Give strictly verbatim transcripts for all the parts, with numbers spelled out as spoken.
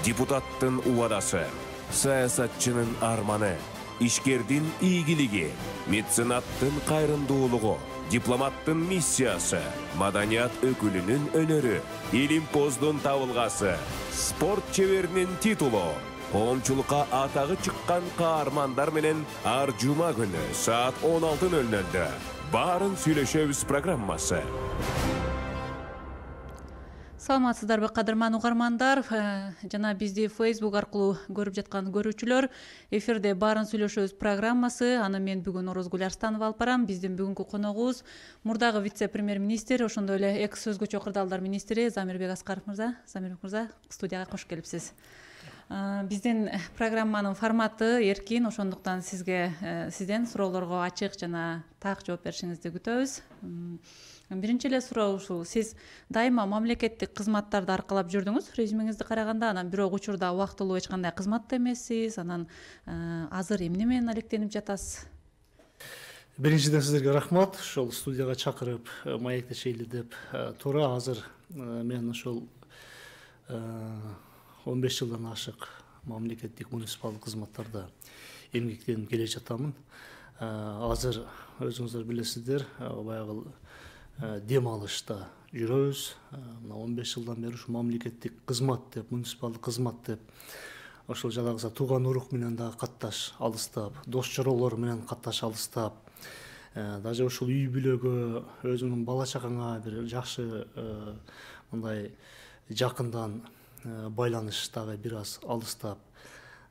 депутаттын убадасы, саясатчынын арманы, ишкердин ийгилиги, меценаттын кайрымдуулугу, дипломаттын миссиясы, маданият өкүлүнүн өнөрү, илимпоздун табылгасы, спорт чеберинин титулу, коомчулукка атагы чыккан каармандар менен ар жума күнү саат он алты ноль нолдо баарын сүйлөшөбүз программасы. Саламатсыздарбы, кадырман угармандар, жана бизди Facebook аркылуу көрүп жаткан көрүүчүлөр. Эфирде баарын сүйлөшөбүз программасы. Аны мен бүгүн Орозгүл Арстанова алып барам. Биздин бүгүнкү коногубуз мурдагы вице-премьер-министр, ошондой эле экс өзгөчө кырдаалдар министри Замирбек Аскаров мырза. Замирбек мырза, студияга кош келипсиз. Биздин программанын форматы эркин, ошондуктан сизге сизден суроолорго ачык жана так жооп беришиңизди күтөбүз. Биринчи эле суроо ушул: сиз дайыма мамлекеттик кызматтарды аркалап жүрдүңүз, резюмеңизди караганда, анан бирок учурда убактылуу эч кандай кызматта эмессиз, анан азыр эмне менен алектенип жатасыз? Биринчиден сиздерге рахмат, ошол студияга чакырып маектешели деп. Туура, азыр мен ошол он беш жылдан ашык мамлекеттик муниципалдык кызматтарда эмгектенип келе жатамын. Азыр өзүңүздөр билесиздер, баягы дем алышта жүрөбүз. Мына он беш жылдан бери ушу мамлекеттик кызмат деп, муниципалдык кызмат деп, ошол жанагы тууган урук менен дагы катташ алыстап, дос чоролор менен катташ алыстап, даже ушул үй бүлөгө, өзүңдүн бала чагаңа бир жакшы мындай жакындан байланыш дагы бир аз алыстап,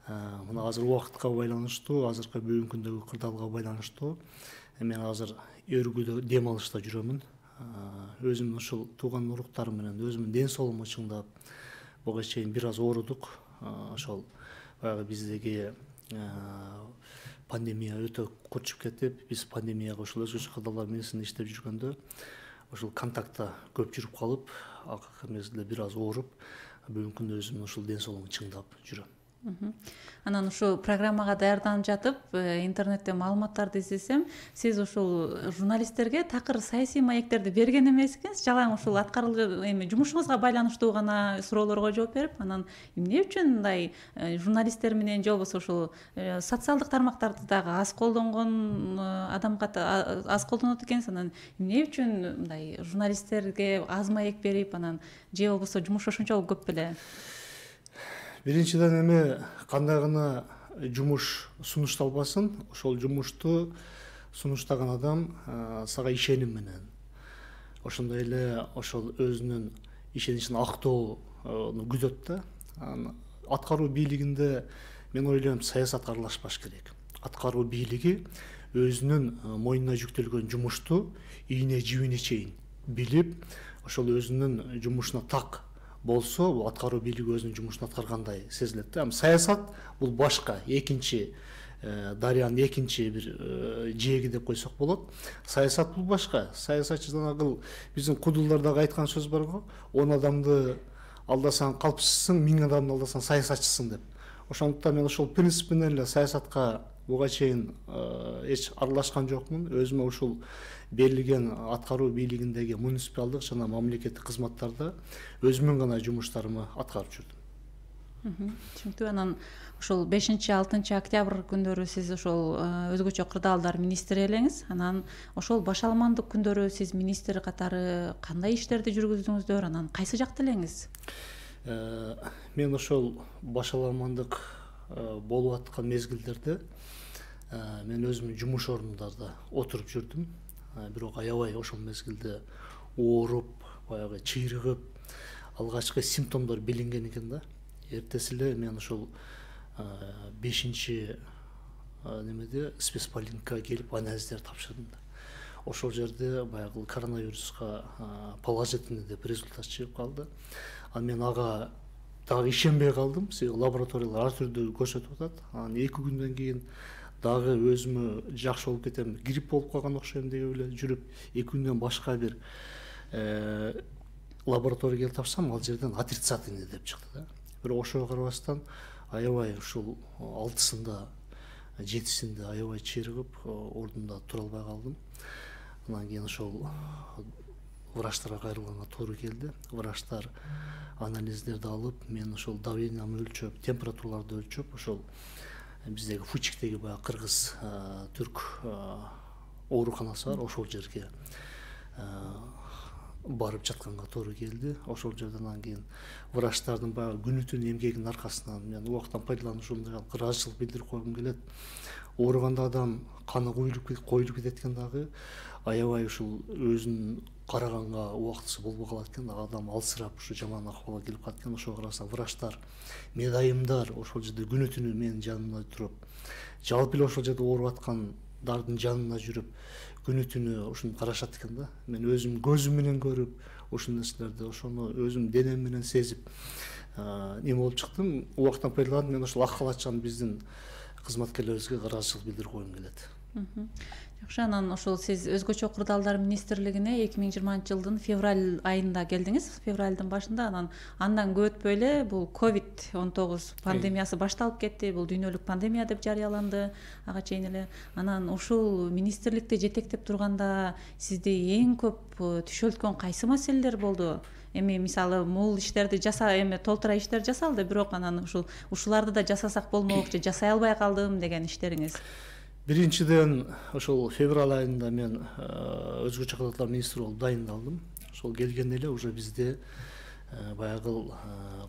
мына азыр убакытка байланыштуу, азыркы бүгүнкү күндөгү кырдаалга байланыштуу мен азыр өргүдө дем алышта жүрөмүн. Өзүмдүн ушул тууган уруктарым менен өзүмдүн ден соолугумду чыңдап, буга чейин бир аз оорудук. Ошол баягы биздеги пандемия өтө курчуп кетип, биз пандемияга ошол өзгөчө кырдаалдар министринде иштеп жүргөндө ошол контактта көп жүрүп калып, акыркы мезгилде бир аз ооруп, бүгүнкү күндө өзүмдүн ушул ден соолугумду чыңдап жүрөм. Анан ушул программага даярданып жатып, интернетте маалыматтарды издесем, сиз ушул журналисттерге такыр саясий маектерди берген эмес экенсиз, жалаң ушул аткарылган эми жумушуңузга байланыштуу гана суроолорго жооп берип, анан эмне үчүн мындай журналисттер менен же болбосо ушул социалдык тармактарды дагы аз колдонгон адамга аз колдонот экенсиз, анан эмне үчүн мындай журналисттерге аз маек берип, анан же болбосо жумуш ошончолук көп беле? Биринчиден эми кандай гана жумуш сунушталбасын, ошол жумушту сунуштаган адам сага ишеним менен, ошондой эле ошол өзүнүн ишеничин актоону күтөт да. Аткаруу бийлигинде мен ойлойм, саясат аралашпаш керек. Аткаруу бийлиги өзүнүн мойнуна жүктөлгөн жумушту ийне жибине чейин билип, ошол өзүнүн жумушуна так болсо, бул аткаруу бийлиги өзүнүн жумушун аткаргандай сезилет да. Саясат бул башка, экинчи дарыянын экинчи бир жээги деп койсок болот. Саясат бул башка. Саясатчы жанагы биздин кудулдардагы айткан сөз бар го, он адамды алдасаң калпчысың, миң адамды алдасаң саясатчысың деп. Ошондуктан мен ошол принцип менен эле саясатка буга чейин эч аралашкан жокмун. Өзүмө ушул берилген аткаруу бийлигиндеги муниципалдык жана мамлекеттик кызматтарда өзүмдүн гана жумуштарымы аткарып жүрдүм. Түшүнүктүү. Анан ошол бешинчи алтынчы октябрь күндөрү сиз ошол өзгөчө кырдаалдар министри элеңиз. Анан ошол башаламандык күндөрү сиз министр катары кандай иштерди жүргүздүңүздөр, анан кайсы жакта элеңиз? Мен ошол башаламандык болуп аткан мезгилдерде мен өзүмдүн жумуш орнумдарда отуруп жүрдүм. Бирок аябай ошол мезгилде ооруп, баягы чыйрыгып, алгачкы симптомдор билинген экен да. Эртеси эле мен ошол бешинчи немеде спецполиклиникага келип анализдер тапшырдым да. Ошол жерде баягы коронавируска положительный деп результат чыгып калды. Анан мен ага дагы ишенбей калдым. Лабораториялар ар түрдүү көрсөтүп атат. Анан эки күндөн кийин дагы өзүмө жакшы болуп кетем, грипп болуп калган окшойм деп эле жүрүп, эки күндөн башка бир лабораторияга тапсам, ал жерден отрицательный деп чыкты да. Бирок ошого карабастан аябай ушул алтысында, жетисинде аябай чыйрыгып, ордумда тура албай калдым. Анан кийин ошол врачтарга кайрылганга туура келди. Врачтар анализдерди алып, мен ошол давлениямды өлчөп, температураларды өлчөп, ошол биздеги Фучиктеги баягы кыргыз түрк ооруканасы бар, ошол жерге барып жатканга туура келди. Ошол жерден анан кийин врачтардын баягы күнү түнү эмгегинин аркасынан мен убактан пайдаланып ушундай ыраазычылык билдирип койгум келет. Ооруганда адам каны коюлуп коюлуп кетет экен дагы, аябай ушул өзүн караганга убактысы болбой калат экен, адам алсырап ушу жаман акыбалга келип калат экен. Ошого карасаң врачтар, медайымдар ошол жерде күнү түнү менин жанымда туруп, жалпы эле ошол жерде ооруп аткандардын жанына жүрүп, күнү түнү ушуну карашат экен да. Мен өзүм көзүм менен көрүп, ушул нерселерди ошону өзүм денем менен сезип эме болуп чыктым. Убактан пайдаланып, мен ошол ак калаччан биздин кызматкерлерибизге ыраазычылык билдирип койгум келет. Жакшы, анан ошол сиз өзгөчө курдалдар министрлигине эки миң жыйырманчы жылдын февраль айында келдиңиз, февралдын башында. Анан андан көп өтпөй эле бул ковид он тогуз пандемиясы башталып кетти. Бул дүйнөлүк пандемия деп жарыяланды ага чейин эле. Анан ушул министрликти жетектеп турганда сизди эң көп түшөлткөн кайсы маселелер болду? Эми мисалы мул иштерди жаса, эми толтура иштер жасалды, бирок анан ушул ушуларды да жасасак болмок же жасай албай калдым деген иштериңиз? Биринчиден, ошол февраль айында мен өзгөчө кадрлар министри болуп дайындалдым. Ошол келгенде эле уже бизде баягы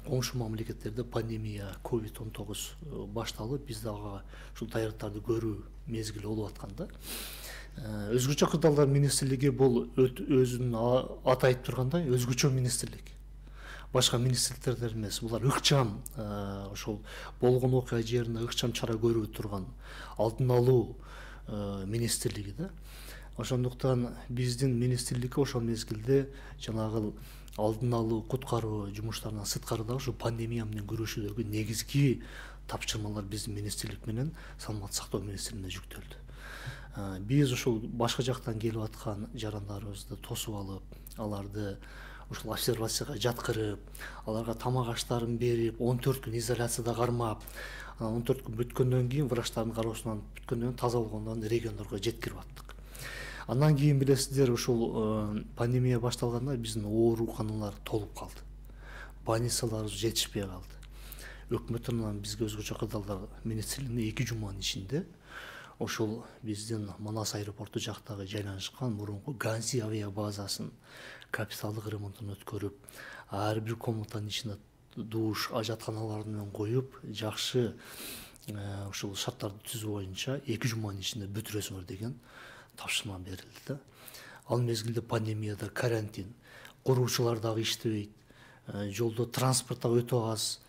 коңшу мамлекеттерде пандемия ковид он тогуз башталып, бизде ага ушул даярдыктарды көрүү мезгили болуп аткан да. Өзгөчө кырдаалдар министрлиги бул өзүнүн аты айтып тургандай өзгөчө министрлик. Башка министрликтердер эмес, булар ыкчам ошол болгон окуя жерине ыкчам чара көрүп турган алдын алуу министрлиги да. Ошондуктан биздин министрликке ошол мезгилде жанагы алдын алуу, куткаруу жумуштарынан сырткары дагы ушу пандемия менен күрөшүүдөгү негизги тапшырмалар биздин министрлик менен саламаттык сактоо министрлигине жүктөлдү. Биз ушул башка жактан келип аткан жарандарыбызды тосуп алып, аларды ушул обсервацияга жаткырып, аларга тамак аштарын берип, он төрт күн изоляцияда кармап, он төрт күн бүткөндөн кийин врачтардын кароосунан бүткөндөн кийин таза болгондон региондорго жеткирип аттык. Андан кийин билесиздер, ушул пандемия башталганда биздин ооруканалар толуп калды. Больницаларыбыз жетишпей калды. Өкмөт тарабынан бизге өзгөчө кырдаалдар министрлигине эки жуманын ичинде ошол биздин Манас аэропорту жактагы жайланышкан мурунку Ганси авиа базасын капиталдык ремонтун өткөрүп, ар бир комнатанын ичине душ, ажатканалар менен коюп, жакшы ушул шарттарды түзүү боюнча эки жуманын ичинде бүтүрөсүңөр деген тапшырма берилди да. Ал мезгилде пандемияда карантин, куруучулар дагы иштебейт, жолдо транспорт дагы өтө аз,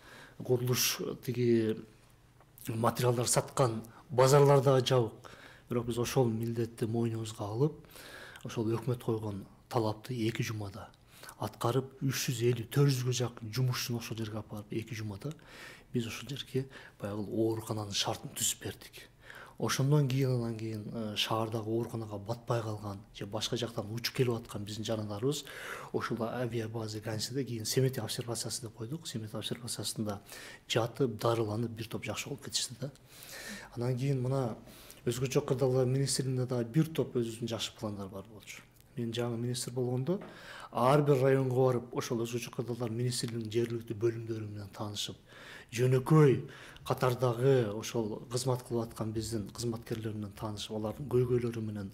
курулуш тиги материалдар саткан базарлар дагы жабык. Бирок биз ошол милдетти мойнубузга алып, ошол өкмөт койгон талапты эки жумада аткарып, үч жүз элүү төрт жүзгө жакын жумушчуну ошол жерге алып барып, эки жумада биз ошол жерге баягы оорукананын шартын түзүп бердик. Ошондон кийин анан кийин шаардагы ооруканага батпай калган же башка жактан учуп келип аткан биздин жарандарыбыз ошол авиабаза Гансиде кийин Семетов обсервациясы деп койдук. Семетов обсервациясында жатып, дарыланып бир топ жакшы болуп кетишти да. Анан кийин мына өзгөчө кырдаалдар министрлигинде дагы бир топ өзүбүздүн жакшы пландар бар болчу. Мен жаңы министр болгондо ар бир районго барып, ошол өзгөчө кырдаалдар министрлигинин жергиликтүү бөлүмдөрү менен таанышып, жөнөкөй катардагы ошол кызмат кылып аткан биздин кызматкерлер менен таанышып, алардын көйгөйлөрү менен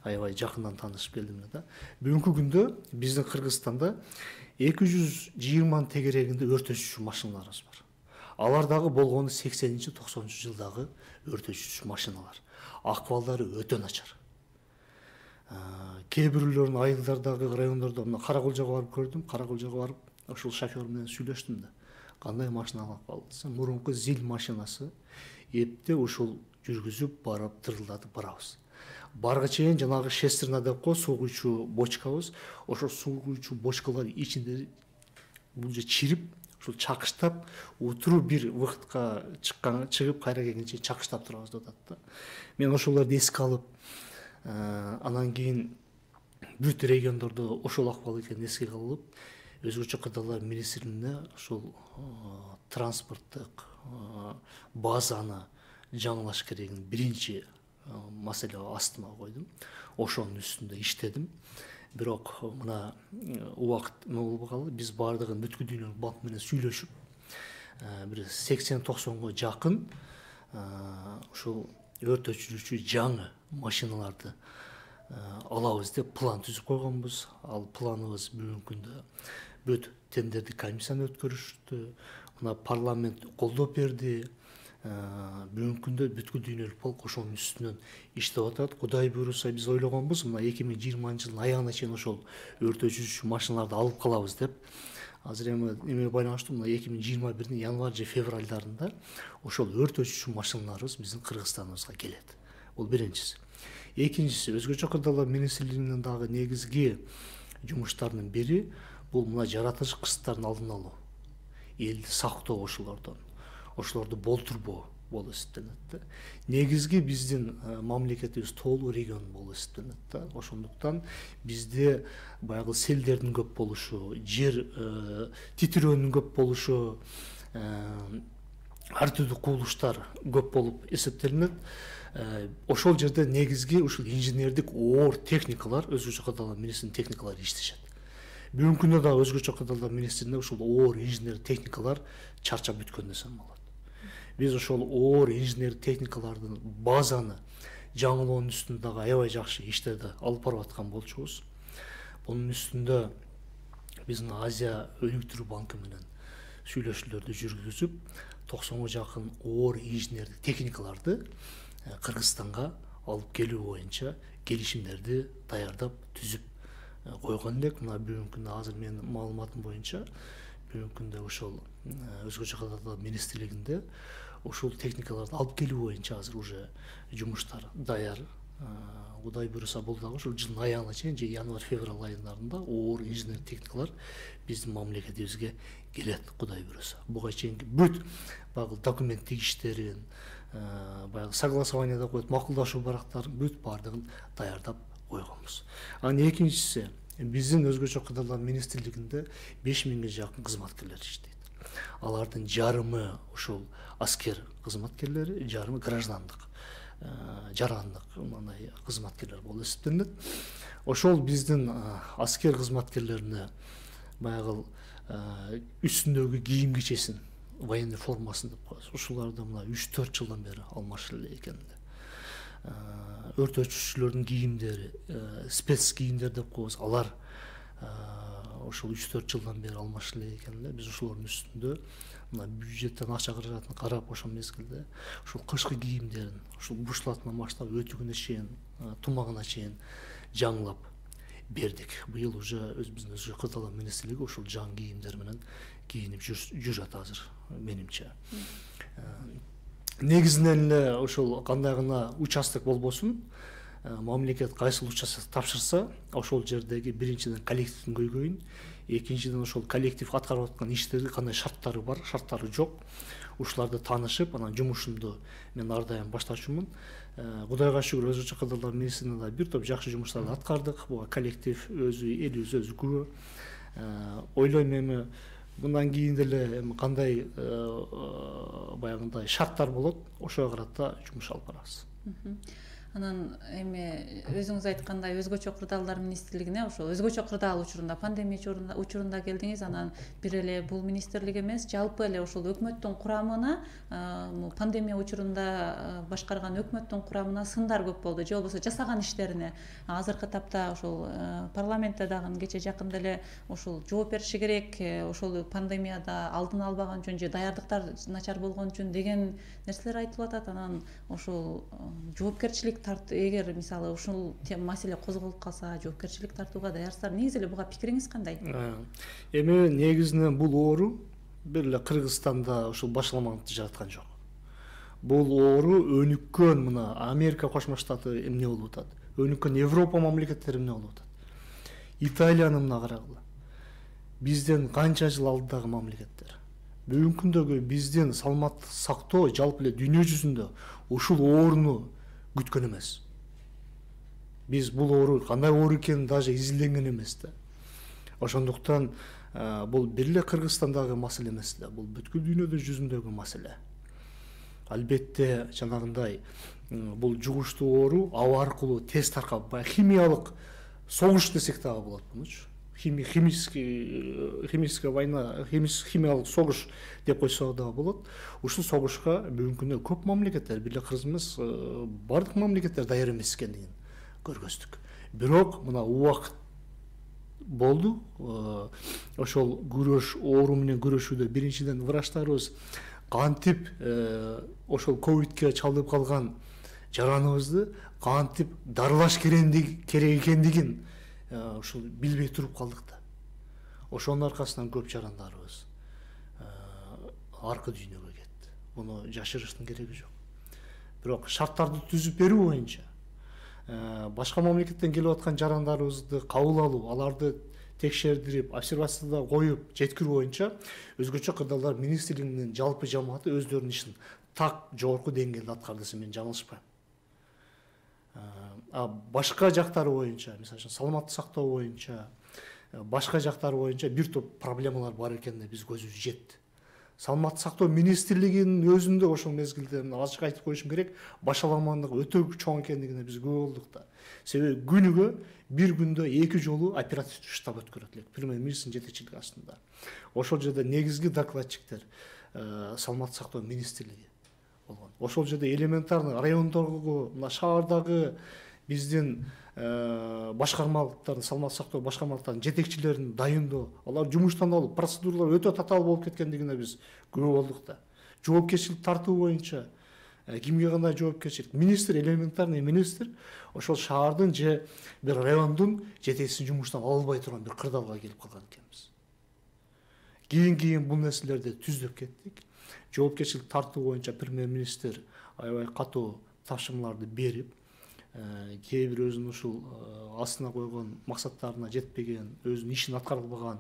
аябай жакындан таанышып келдим да. Бүгүнкү күндө биздин Кыргызстанда эки жүз жыйырманын тегерегинде өртөчү машиналарыбыз бар. Алар дагы болгону сексенинчи токсонунчу жылдагы өртөчү машиналар. Акыбалдары өтө начар. Кээ бирлөрүн айылдардагы райондордо мына Каракулжага барып көрдүм. Каракулжага барып ошол шофер менен сүйлөштүм да. Кандай машина алып калдысы? Мурунку зил машинасы эпте ушул жүргүзүп барып тырылдатып барабыз. Барга чейин жанагы шестерна деп кой, суу куючу бочкабыз, ошол суу куючу бочкалар ичинде бул же чирип, ушул чакыштап, утуру бир вакытка чыккан, чыгып кайра келгенче чакыштап турабыз деп атат да. Мен ошолорду эске алып, анан кийин бүт региондордо ошол акыбал экенин эске алып, өзгөчө кырдаалдар министрлигине ошол транспорттук базаны жаңылаш керегин биринчи маселе астыма койдум. Ошонун үстүндө иштедим. бирок мына убакыт эме болбогалы биз баардыгын бүткүл дүйнөлүк банк менен сүйлөшүп бир сексен токсонго жакын ушул өрт өчүрүүчү жаңы машиналарды алабыз деп план түзүп койгонбуз. Ал планыбыз бүгүнкү күндө бүт тендердик комиссияны өткөрүштү. Мына парламент колдоп берди. Бүгүнкү күндө бүткүл дүйнөлүк банк ошонун үстүнөн иштеп атат. Кудай буйруса биз ойлогонбуз мына эки миң жыйырманчы жылдын аягына чейин ошол өрт өчүрүүчү машиналарды алып калабыз деп. Азыр эми эме байланыштуу мына эки миң жыйырма бирдин январь же февралдарында ошол өрт өчүрүүчү машиналарыбыз биздин Кыргызстаныбызга келет. Бул биринчиси. Экинчиси, өзгөчө кырдаалдар министрлигинин дагы негизги жумуштарынын бири бул мына жаратылыш кырсыктардын алдын алуу, элди сактоо ошолордон, ошолорду болтурбоо болуп эсептелет да. Негизги биздин мамлекетибиз тоолуу регион болуп эсептелет да. Ошондуктан бизде баягы селдердин көп болушу, жер титирөөнүн көп болушу, ар түрдүү кубулуштар көп болуп эсептелинет. Ошол жерде негизги ушул инженердик оор техникалар, өзгөчө кырдаалдар министринин техникалары иштешет. Бүгүнкү күндө дагы өзгөчө кырдаалдар министринде ушул оор инженер техникалар чарчап бүткөн десем болот. Биз ошол оор инженер техникалардын базаны жаңылоонун үстүндө дагы аябай жакшы иштерди алып барып аткан болчубуз. Бунун үстүндө биздин Азия өнүктүрүү банкы менен сүйлөшүүлөрдү жүргүзүп, токсонго жакын оор инженердик техникаларды Кыргызстанга алып келүү боюнча келишимдерди даярдап түзүп койгон элек. Мына бүгүнкү күндө азыр менин маалыматым боюнча бүгүнкү күндө ошол өзгөчө кырдаалдар министрлигинде ушул техникаларды алып келүү боюнча азыр уже жумуштар даяр. Кудай буйруса бул дагы ушул жылдын аягына чейин же январь-февраль айылдарында оор инженер техникалар биздин мамлекетибизге келет, Кудай буйруса. Буга чейинки бүт баягы документтик иштерин, баягы согласование коюп макулдашуу барактарын бүт баардыгын даярдап койгонбуз. Анын экинчиси, биздин өзгөчө кырдаалдар министрлигинде беш миңге жакын кызматкерлер иштейт. Алардын жарымы ушул аскер кызматкерлери, жарымы граждандык, жарандык мындай кызматкерлер болуп эсептелинет. Ошол биздин аскер кызматкерлерине баягы үстүндөгү кийим кичесин, военный формасын деп коебуз. Ушуларды мына үч төрт жылдан бери алмашып эле экен. Өрт өчүрүүчүлөрдүн кийимдери, спец кийимдер деп коебуз. Алар ошол үч төрт жылдан бери алмашып эле экен. Биз ошолордун үстүндө мына бюджеттен акча каражатын карап ошол мезгилде ушул кышкы кийимдерин, ушул бушлатынан баштап өтүгүнө чейин, тумагына чейин жаңылап бердик. Быйыл уже өзүбүздүн өзгөчө кырдаалдар министрлиги ушул жаңы кийимдер менен кийинип жүрөт азыр менимче. Негизинен эле ошол кандай гана участок болбосун, мамлекет кайсыл участок тапшырса, ошол жердеги биринчиден коллективдин көйгөйүн, экинчиден ошол коллектив аткарып аткан иштерди кандай шарттары бар, шарттары жок, ушуларды таанышып, анан жумушумду мен ар дайым баштачумун. Кудайга шүгүр, өзгөчө кырдаалдар министрлигинде бир топ жакшы жумуштарды аткардык. Буга коллектив өзү, элибиз өзү күбө. Ойлойм эми мындан кийин деле эми кандай баягындай шарттар болот, ошого карата жумуш алып барабыз. Анан эми өзүңүз айткандай өзгөчө кырдаалдар министрлигине ошо өзгөчө кырдаал учурунда, пандемия учурунда учурунда келдиңиз. Анан бир эле бул министрлик эмес, жалпы эле ошол өкмөттүн курамына, пандемия учурунда башкарган өкмөттүн курамына сындар көп болду, же болбосо жасаган иштерине. Азыркы тапта ошол парламентте дагы кече жакында эле ошол жооп бериши керек, ошол пандемияда алдын албаган үчүн же даярдыктар начар болгон үчүн деген нерселер айтылып атат. Анан ошол жоопкерчилик эгер мисалы ушул маселе козголуп калса, жоопкерчилик тартууга даярсыздар. Негизи эле буга пикириңиз кандай? Эми негизинен бул оору бир эле Кыргызстанда ушул башаламандыкты жараткан жок. Бул оору өнүккөн мына Америка Кошмо Штаты эмне болуп атат, өнүккөн Европа мамлекеттери эмне болуп атат. Италияны мына карагыла. Бизден канча жыл алдыдагы мамлекеттер. Бүгүнкү күндөгү биздин саламаттык сактоо жалпы эле дүйнө жүзүндө ушул ооруну күткөн эмес. Биз бул оору кандай оору экенин даже изилденген эмес да. Ошондуктан бул бир эле Кыргызстандагы маселе эмес да, бул бүткүл дүйнөдө жүзүндөгү маселе. Албетте жанагындай бул жугуштуу оору аба аркылуу тез таркап, химиялык согуш десек дагы болот мунучу. Химический химическая война, химиялык согуш деп койсок дагы болот. Ушул согушка бүгүнкү күндө көп мамлекеттер, бир эле Кыргыз эмес, бардык мамлекеттер даяр эмес экендигин көргөздүк. Бирок мына убакыт болду. Ошол күрөш, оору менен күрөшүүдө биринчиден врачтарыбыз кантип ошол ковидке чалдыгып калган жараныбызды кантип дарылаш керек экендигин ушул билбей туруп калдык да. Ошонун аркасынан көп жарандарыбыз аркы дүйнөгө кетти. Муну жашырыштын кереги жок. Бирок шарттарды түзүп берүү боюнча башка мамлекеттен келип аткан жарандарыбызды кабыл алуу, аларды текшердирип, обсервацияда коюп жеткирүү боюнча өзгөчө кырдаалдар министрлигинин жалпы жамааты өздөрүнүн ишин так жогорку деңгээлде аткарды десем мен жаңылышпайм. А башка жактары боюнча, мисалы үчүн саламаттык сактоо боюнча, башка жактары боюнча бир топ проблемалар бар экенине биз көзүбүз жетти. Саламаттык сактоо министрлигинин өзүндө ошол мезгилде ачык айтып коюшум керек, башаламандыгы өтө чоң экендигине биз күбө болдук да. Себеби күнүгө бир күндө эки жолу оперативдик штаб өткөрөт элек премьер-министрдин жетекчилиги астында. Ошол жерде негизги докладчиктер саламаттык сактоо министрлиги болгон. Ошол жерде элементарный райондогу, мына шаардагы биздин башкармалыктардын, саламаттык сактоо башкармалыктарынын жетекчилерин дайындоо, алар жумуштан алып, процедуралар өтө татаал болуп кеткендигине биз күбө болдук да. Жоопкерчилик тартуу боюнча кимге кандай жоопкерчилик? Министр, элементарный министр ошол шаардын же бир райондун жетекчисин жумуштан ала албай турган бир кырдаалга келип калган экенбиз. Кийин кийин бул нерселерди түздөп кеттик. Жоопкерчилик тартуу боюнча премьер-министр аябай катуу тапшырмаларды берип, кээ бир өзүнүн ушул астына койгон максаттарына жетпеген, өзүнүн ишин аткара албаган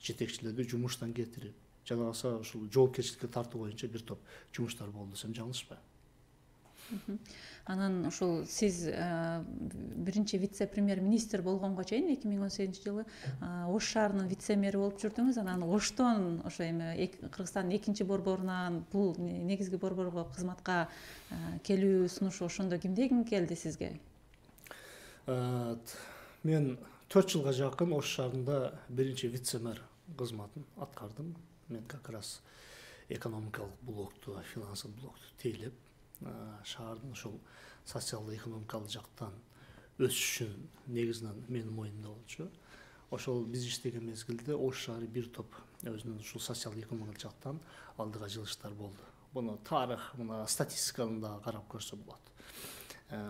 жетекчилерди жумуштан кетирип, жана калса ушул жоопкерчиликке тартуу боюнча бир топ жумуштар болду десем жаңылышпайм. Анан ушул сиз биринчи вице-премьер-министр болгонго чейин эки миң он сегизинчи жылы Ош шаарынын вице-мэри болуп жүрдүңүз. Анан Оштон ошо эми Кыргызстандын экинчи борборунан бул негизги борборго кызматка келүү сунушу ошондо кимден келди сизге? Мен төрт жылга жакын Ош шаарында биринчи вице-мэр кызматын аткардым. Мен как раз экономикалык блокту, финансылык блокту тейлеп, шаардын ушул социалдык экономикалык жактан өсүшүн негизинен менин моюнумда болчу. Ошол биз иштеген мезгилде Ош шаары бир топ өзүнүн ушул социалдык экономикалык жактан алдыга жылыштар болду. Буну тарых, мына статистиканы да карап көрсө болот.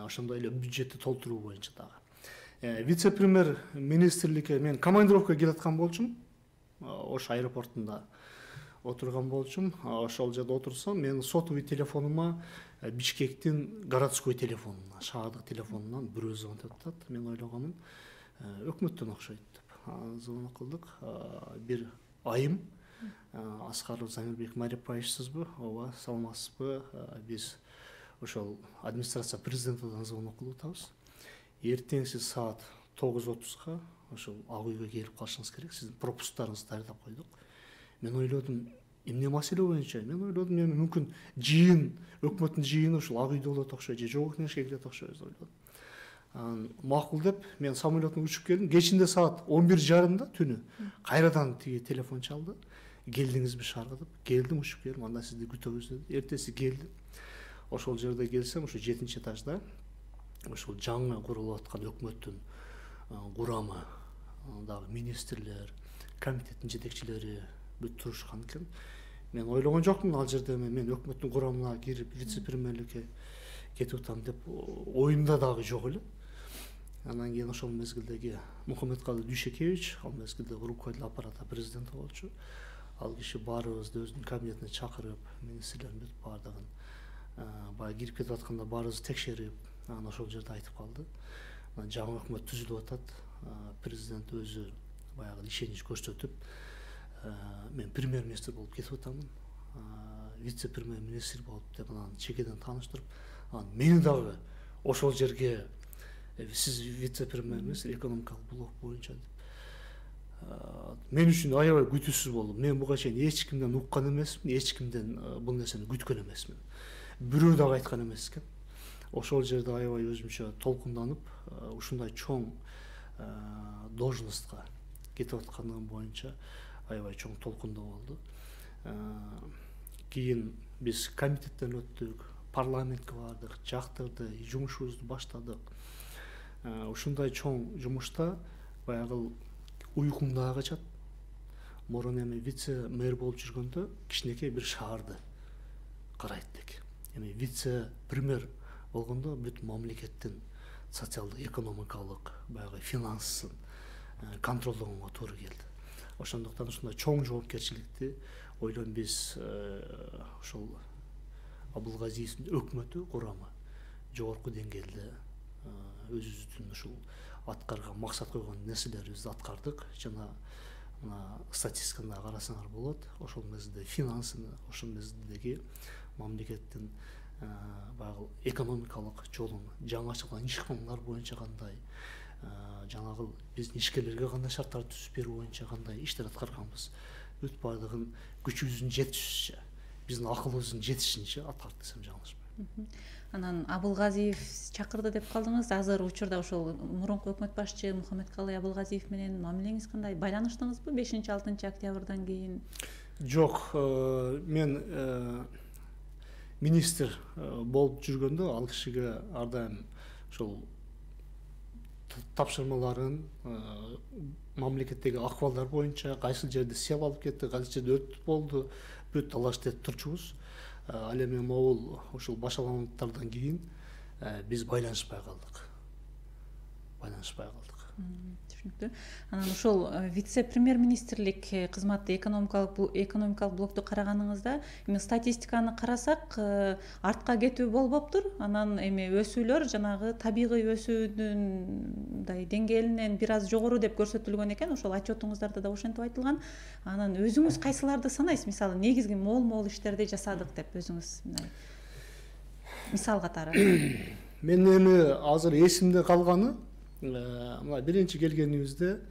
Ошондой эле бюджетти толтуруу боюнча дагы. Вице-премьер министрликке мен командировкага келаткан болчумун. Ош аэропортунда отурган болчум. Ошол жерде отурсам, мен сотовый телефонума Бишкектин городской телефонуна, шаардык телефонунан бирөө звонтуп атат. Мен ойлогонмун, өкмөттөн окшойт деп. Звонок кылдык. Бир айым, Аскаров Замирбек Марипаевичсизби? Ооба, саламатсызбы? Биз ошол администрация президентидан звонок кылып атабыз. Эртеңси саат тогуз отузга ошол ак үйгө келип калышыңыз керек. Сиздин пропусктарыңызды даярдап койдук. Мен ойлодум, эмне маселе боюнча? Мен ойлодум, эми мүмкүн жыйын, өкмөттүн жыйыны ушул ак үйдө болот окшойт, же жогорку кеңешке келет окшойт деп ойлодум. Макул деп мен самолеттон учуп келдим. Кечинде саат он бир жарымда түнү кайрадан тиги телефон чалды. Келдиңизби шаарга деп. Келдим, учуп келдим. Анда сизди күтөбүз деди. Эртеси келдим. Ошол жерде келсем, ошо жетинчи этажда ошол жаңы курулуп аткан өкмөттүн курамы, дагы министрлер, комитеттин жетекчилери бүт турушкан экен. Мен ойлогон жокмун ал жерде мен өкмөттүн курамына кирип вице-премьерликке кетип атам деп оюмда дагы жок эле. Анан кийин ошол мезгилдеги Мухаммедкалый Дүйшекевич, ал мезгилде руководитель аппарата президенти болчу. Ал киши баарыбызды өзүнүн кабинетине чакырып, министрлердин бүт баардыгын баягы кирип кетип атканда баарыбызды текшерип, анан ошол жерде айтып калды. Жаңы өкмөт түзүлүп атат. Президент өзү баягы ишенич көрсөтүп, мен премьер-министр болуп кетип атамын, вице-премьер-министр болуп деп анан чекеден тааныштырып, анан мени дагы ошол жерге сиз вице-премьер-министр экономикалык блок боюнча деп. Мен үчүн аябай күтүүсүз болду. Мен буга чейин эч кимден уккан эмесмин, эч кимден бул нерсени күткөн эмесмин. Бирөө дагы айткан эмес экен. Ошол жерде аябай өзүмчө толкунданып, ушундай чоң должностко кетип аткандыгы боюнча аябай чоң толкундоо болду. Кийин биз комитеттен өттүк, парламентке бардык, жактырды, жумушубузду баштадык. Ушундай чоң жумушта баягы уйкум дагы качат. Мурун эми вице мэр болуп жүргөндө кичинекей бир шаарды карайт элек. Эми вице премьер болгондо бүт мамлекеттин социалдык, экономикалык, баягы финансын контролдогонго туура келди. Ошондуктан ушундай чоң жоопкерчиликти ойлойм биз ошол Абылгазиевдин өкмөтү курамы жогорку деңгээлде өзүбүздүн ушул аткарган максат койгон нерселерибизди аткардык. Жана мына статистиканы карасаңар болот. Ошол мезгилде финансыны, ошол мезгилдеги мамлекеттин баягы экономикалык жолун жаңы ачылган ишканалар боюнча кандай, жанагы биздин ишкерлерге кандай шарттар түзүп берүү боюнча кандай иштер аткарганбыз. Бүт баардыгын күчүбүздүн жетишинче, биздин акылыбыздын жетишинче аткардык десем жаңылышпайм. Анан Абылгазиев чакырды деп калдыңыз. Азыр учурда ошол мурунку өкмөт башчы Мухаммедкалый Абылгазиев менен мамилеңиз кандай? Байланыштыңызбы бешинчи алтынчы октябрдан кийин? Жок, мен министр болуп жүргөндө ал кишиге ар дайым ошол тапшырмаларын, мамлекеттеги акыбалдар боюнча кайсыл жерде сел алып кетти, кайсыл жерде өт болду, бүт талашты этип турчубуз. Ал эми могул ушул башалгандыктардан кийин биз байланышпай калдык. Байланышпай калдык. Түшүнүктүү. Анан ошол вице-премьер-министрлик кызматы экономикалык экономикалык блокту караганыңызда, эми статистиканы карасак, артка кетүү болбоптур. Анан эми өсүүлөр жанагы табигый өсүүдүн мындай деңгээлинен бир аз жогору деп көрсөтүлгөн экен. Ошол отчетуңуздарда да ошентип айтылган. Анан өзүңүз кайсыларды санайсыз? Мисалы, негизги мол-мол иштерди жасадык деп өзүңүз мисал катары. Мен эми азыр эсимде калганы мына биринчи келгенибизде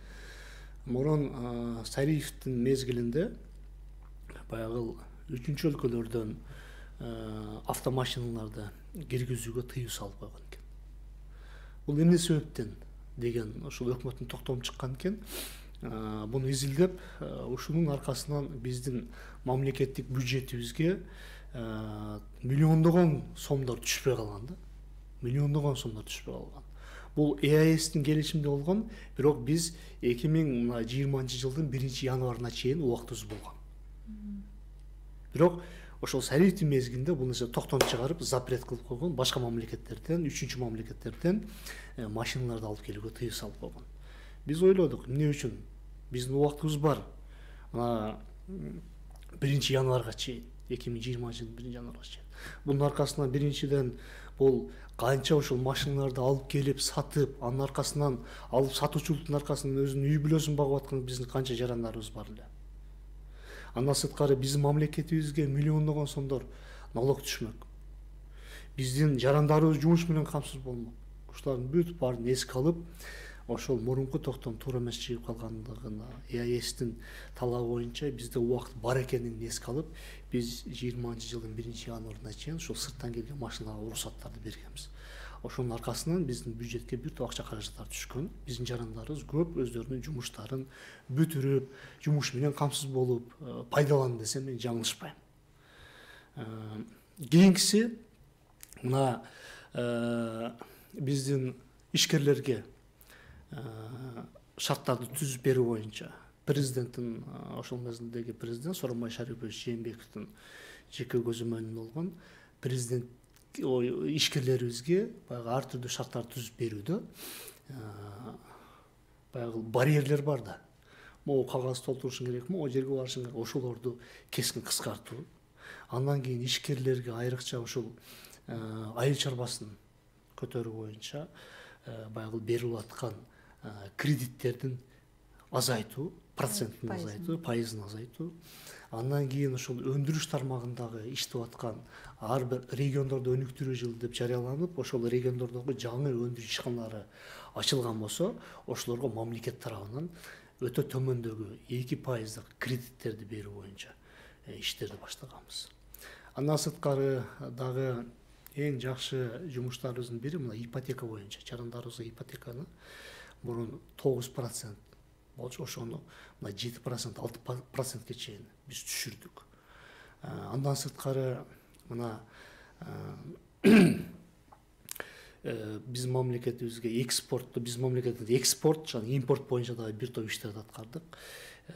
мурун Сариевдин мезгилинде баягы үчүнчү өлкөлөрдөн автомашиналарды киргизүүгө тыюу салып койгон экен. Бул эмне себептен деген ошол өкмөттүн токтому чыккан экен. Буну изилдеп, ушунун аркасынан биздин мамлекеттик бюджетибизге миллиондогон сомдор түшпөй калган да. Миллиондогон сомдор түшпөй калган. Бул Е А Эстин келишимде болгон, бирок биз эки миң жыйырманчы жылдын биринчи январына чейин убактыбыз болгон. Бирок ошол Сариевдин мезгилинде бул нерсе токтом чыгарып, запрет кылып койгон, башка мамлекеттерден, үчүнчү мамлекеттерден машиналарды алып келүүгө тыюу салып койгон. Биз ойлодук, эмне үчүн? Биздин убактыбыз бар. Мына биринчи январга чейин, эки миң жыйырманчы жылдын биринчи январга чейин. Бунун аркасынан биринчиден бул канча ушул машиналарды алып келип сатып, анын аркасынан алып сатуучулуктун аркасынан өзүнүн үй бүлөсүн багып аткан биздин канча жарандарыбыз бар эле. Андан сырткары биздин мамлекетибизге миллиондогон сомдор налог түшмөк. Биздин жарандарыбыз жумуш менен камсыз болмок. Ушулардын бүт баарын эске алып, ошол мурунку токтом туура эмес чыгып калгандыгына Е А Эстин талабы боюнча бизде убакыт бар экенин эске алып, биз жыйырманчы жылдын биринчи январына чейин ушул сырттан келген машиналарга уруксаттарды бергенбиз. Ошонун аркасынан биздин бюджетке бүт акча каражаттар түшкөн. Биздин жарандарыбыз көп өздөрүнүн жумуштарын бүтүрүп, жумуш менен камсыз болуп пайдаланды десем мен жаңылышпайм. Кийинкиси мына биздин ишкерлерге шарттарды түзүп берүү боюнча президенттин ошол мезгилдеги президент Сооронбай Шарипович Жээнбековдун жеке көзөмөлүндө болгон президент ишкерлерибизге баягы ар түрдүү шарттарды түзүп берүүдө баягы барьерлер бар да. Могу кагаз толтурушуң керек, могу жерге барышың керек, ошолорду кескин кыскартуу. Андан кийин ишкерлерге айрыкча ушул айыл чарбасын көтөрүү боюнча баягы берилип аткан кредиттердин азайтуу, процентин азайтуу, пайызын азайтуу. Андан кийин ушул өндүрүш тармагындагы иштеп аткан ар бир региондордо өнүктүрүү жылы деп жарыяланып, ошол региондордогу жаңы өндүрүш ишканалары ачылган болсо, ошолорго мамлекет тарабынан өтө төмөндөгү эки пайыздык кредиттерди берүү боюнча иштерди баштаганбыз. Андан сырткары дагы эң жакшы жумуштарыбыздын бири мына ипотека боюнча, жарандарыбызга ипотеканы мурун тогуз процент болчу, ошону мына жети процент алты процентке чейин биз түшүрдүк. Андан сырткары мына биздин мамлекетибизге экспортту, биздин мамлекетибизде экспорт жана импорт боюнча дагы бир топ иштерди аткардык.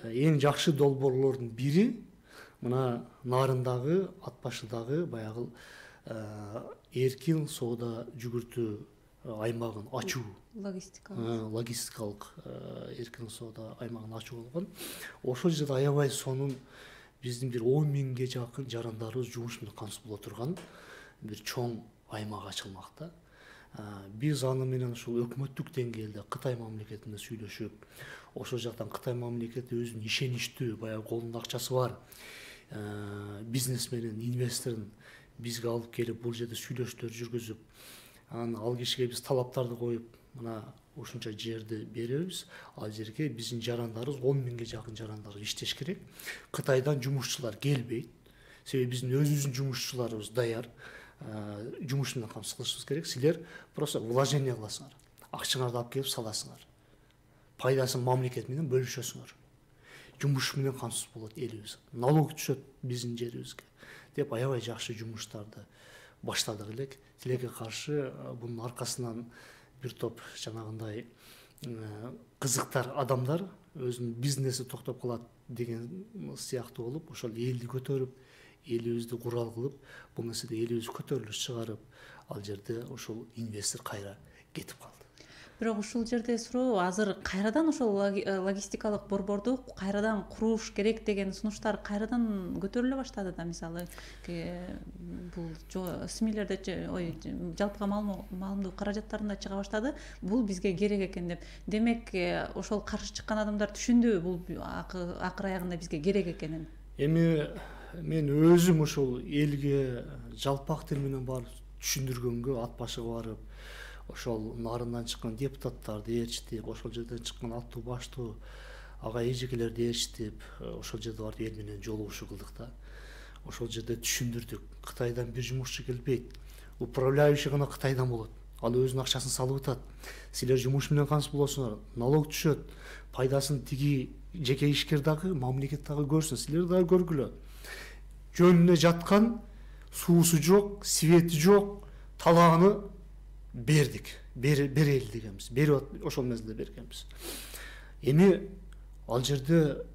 Эң жакшы долбоорлордун бири мына Нарындагы, Ат башыдагы баягы эркин соода жүгүртүү аймагын ачуу, логистикалык логистикалык эркин соода аймагын ачуу болгон. Ошол жерде аябай сонун биздин бир он миңге жакын жарандарыбыз жумуш менен камсыз боло турган бир чоң аймак ачылмакта. Биз аны менен ушул өкмөттүк деңгээлде Кытай мамлекетинде сүйлөшүп, ошол жактан Кытай мамлекети өзүнүн ишеничтүү, баягы колунда акчасы бар бизнесменин, инвесторун бизге алып келип, бул жерде сүйлөшүүлөр жүргүзүп, анан ал кишиге биз талаптарды коюп, мына ушунча жерди беребиз, ал жерге биздин жарандарыбыз он миңге жакын жарандарыбыз иштеш керек. Кытайдан жумушчулар келбейт, себеби биздин өзүбүздүн жумушчуларыбыз даяр, жумуш менен камсыз кылышыбыз керек. Силер просто вложение кыласыңар, акчаңарды алып келип саласыңар, пайдасын мамлекет менен бөлүшөсүңөр, жумуш менен камсыз болот элибиз, налог түшөт биздин жерибизге деп аябай жакшы жумуштарды баштадык элек. Тилекке каршы бунун аркасынан бир топ жанагындай кызыктар адамдар өзүнүн бизнеси токтоп калат деген сыяктуу болуп, ошол элди көтөрүп, элибизди курал кылып, бул нерседе элибизди көтөрүлүш чыгарып, ал жерде ошол инвестор кайра кетип калды. Бирок ушул жерде суроо, азыр кайрадан ошол логистикалык борборду кайрадан куруш керек деген сунуштар кайрадан көтөрүлө баштады да. Мисалы, бул СМИлерде, ой, жалпыга маалымдоо каражаттарында чыга баштады. Бул бизге керек экен деп. Демек, ошол каршы чыккан адамдар түшүндү бул акыр аягында бизге керек экенин. Эми мен өзүм ошол элге жалпак тил менен барып түшүндүргөнгө, Ат башыга барып, ошол Нарындан чыккан депутаттарды ээрчитип, ошол жерден чыккан аттуу баштуу ага эжекелерди ээрчитип, ошол жерде барып эл менен жолугушуу кылдык да. Ошол жерде түшүндүрдүк. Кытайдан бир жумушчу келбейт. Управляющий гана Кытайдан болот. Ал өзүнүн акчасын салып атат. Силер жумуш менен камсыз болосуңар, налог түшөт. Пайдасын тиги жеке ишкер дагы, мамлекет дагы көрсүн, силер дагы көргүлө. Жөнүнө жаткан суусу жок, свети жок, талааны бердик, берели дегенбиз, берип ошол мезгилде бергенбиз. Эми ал жерде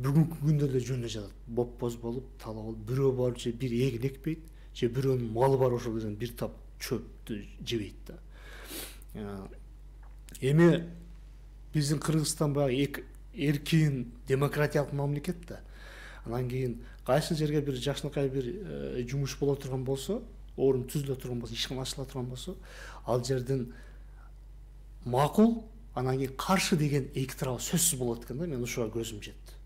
бүгүнкү күндө эле жөнүнө жатат, бопбоз болуп, талаа болуп, бирөө барып же бир эгин экпейт, же бирөөнүн малы бар ошол жерден бир тап чөптү жебейт да. Эми биздин Кыргызстан баягы эркин, демократиялык мамлекет да. Анан кийин кайсы жерге бир жакшынакай бир жумуш боло турган болсо, орун түзүлө турган болсо, ишкана ачыла турган болсо, ал жердин макул, анан кийин каршы деген эки тарабы сөзсүз болот экен да. Мен ушуга көзүм жетти.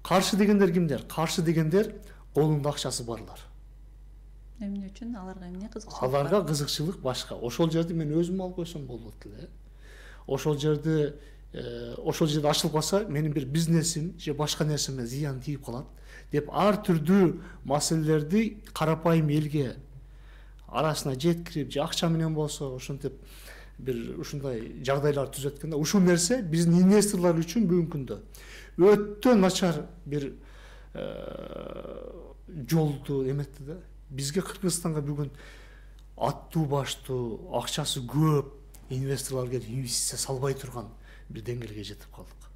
Каршы дегендер кимдер? Каршы дегендер колунда акчасы барлар. Эмне үчүн? Аларга эмне кызыкчылык? Аларга кызыкчылык башка. Ошол жерди мен өзүм алып койсом болот эле. Ошол жерди ошол жерде ачылып калса, менин бир бизнесим же башка нерсеме зыян тийип калат деп ар түрдүү маселелерди карапайым элге арасына жеткирип, же акча менен болсо ошентип бир ушундай жагдайлар түзөт экен да. Ушул нерсе биздин инвесторлор үчүн бүгүнкү күндө өтө начар бир жолду эметти да. Бизге Кыргызстанга бүгүн аттуу баштуу, акчасы көп инвесторлор келип инвестиция салбай турган бир деңгээлге жетип калдык.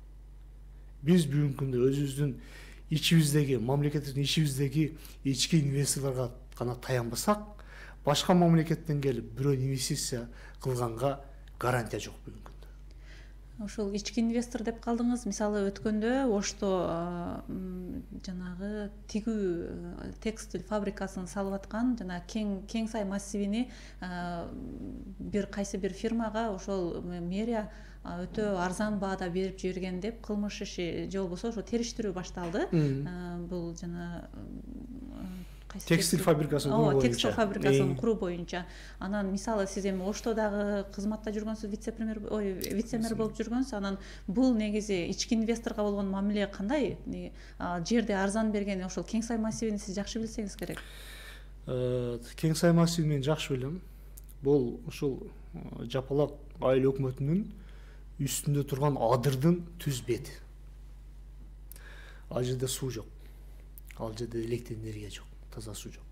Биз бүгүнкү күндө өзүбүздүн ичибиздеги, мамлекетибиздин ичибиздеги ички инвесторлорго гана таянбасак, башка мамлекеттен келип бирөө инвестиция кылганга гарантия жок бүгүнкү күндө. Ошол ички инвестор деп калдыңыз. Мисалы, өткөндө Ошто жанагы тигүү текстиль фабрикасын салып аткан жана кең кең сай массивини бир кайсы бир фирмага ошол мэрия өтө арзан баада берип жиберген деп кылмыш иши же болбосо ошо териштирүү башталды. Бул жана текстиль фабрикасын куруу боюнча. Текстиль фабрикасын куруу боюнча. Анан мисалы сиз эми Оштодагы кызматта жүргөнсүз, вице-премьер, ой, вице-мэр болуп жүргөнсүз. Анан бул негизи ички инвесторго болгон мамиле кандай? Жерди арзан берген ошол кең сай массивин сиз жакшы билсеңиз керек. Кең сай массивин мен жакшы билем. бул ушул жапалак айыл өкмөтүнүн үстүндө турган адырдын түз бети. Ал жерде суу жок, ал жерде электр энергия жок, таза суу жок.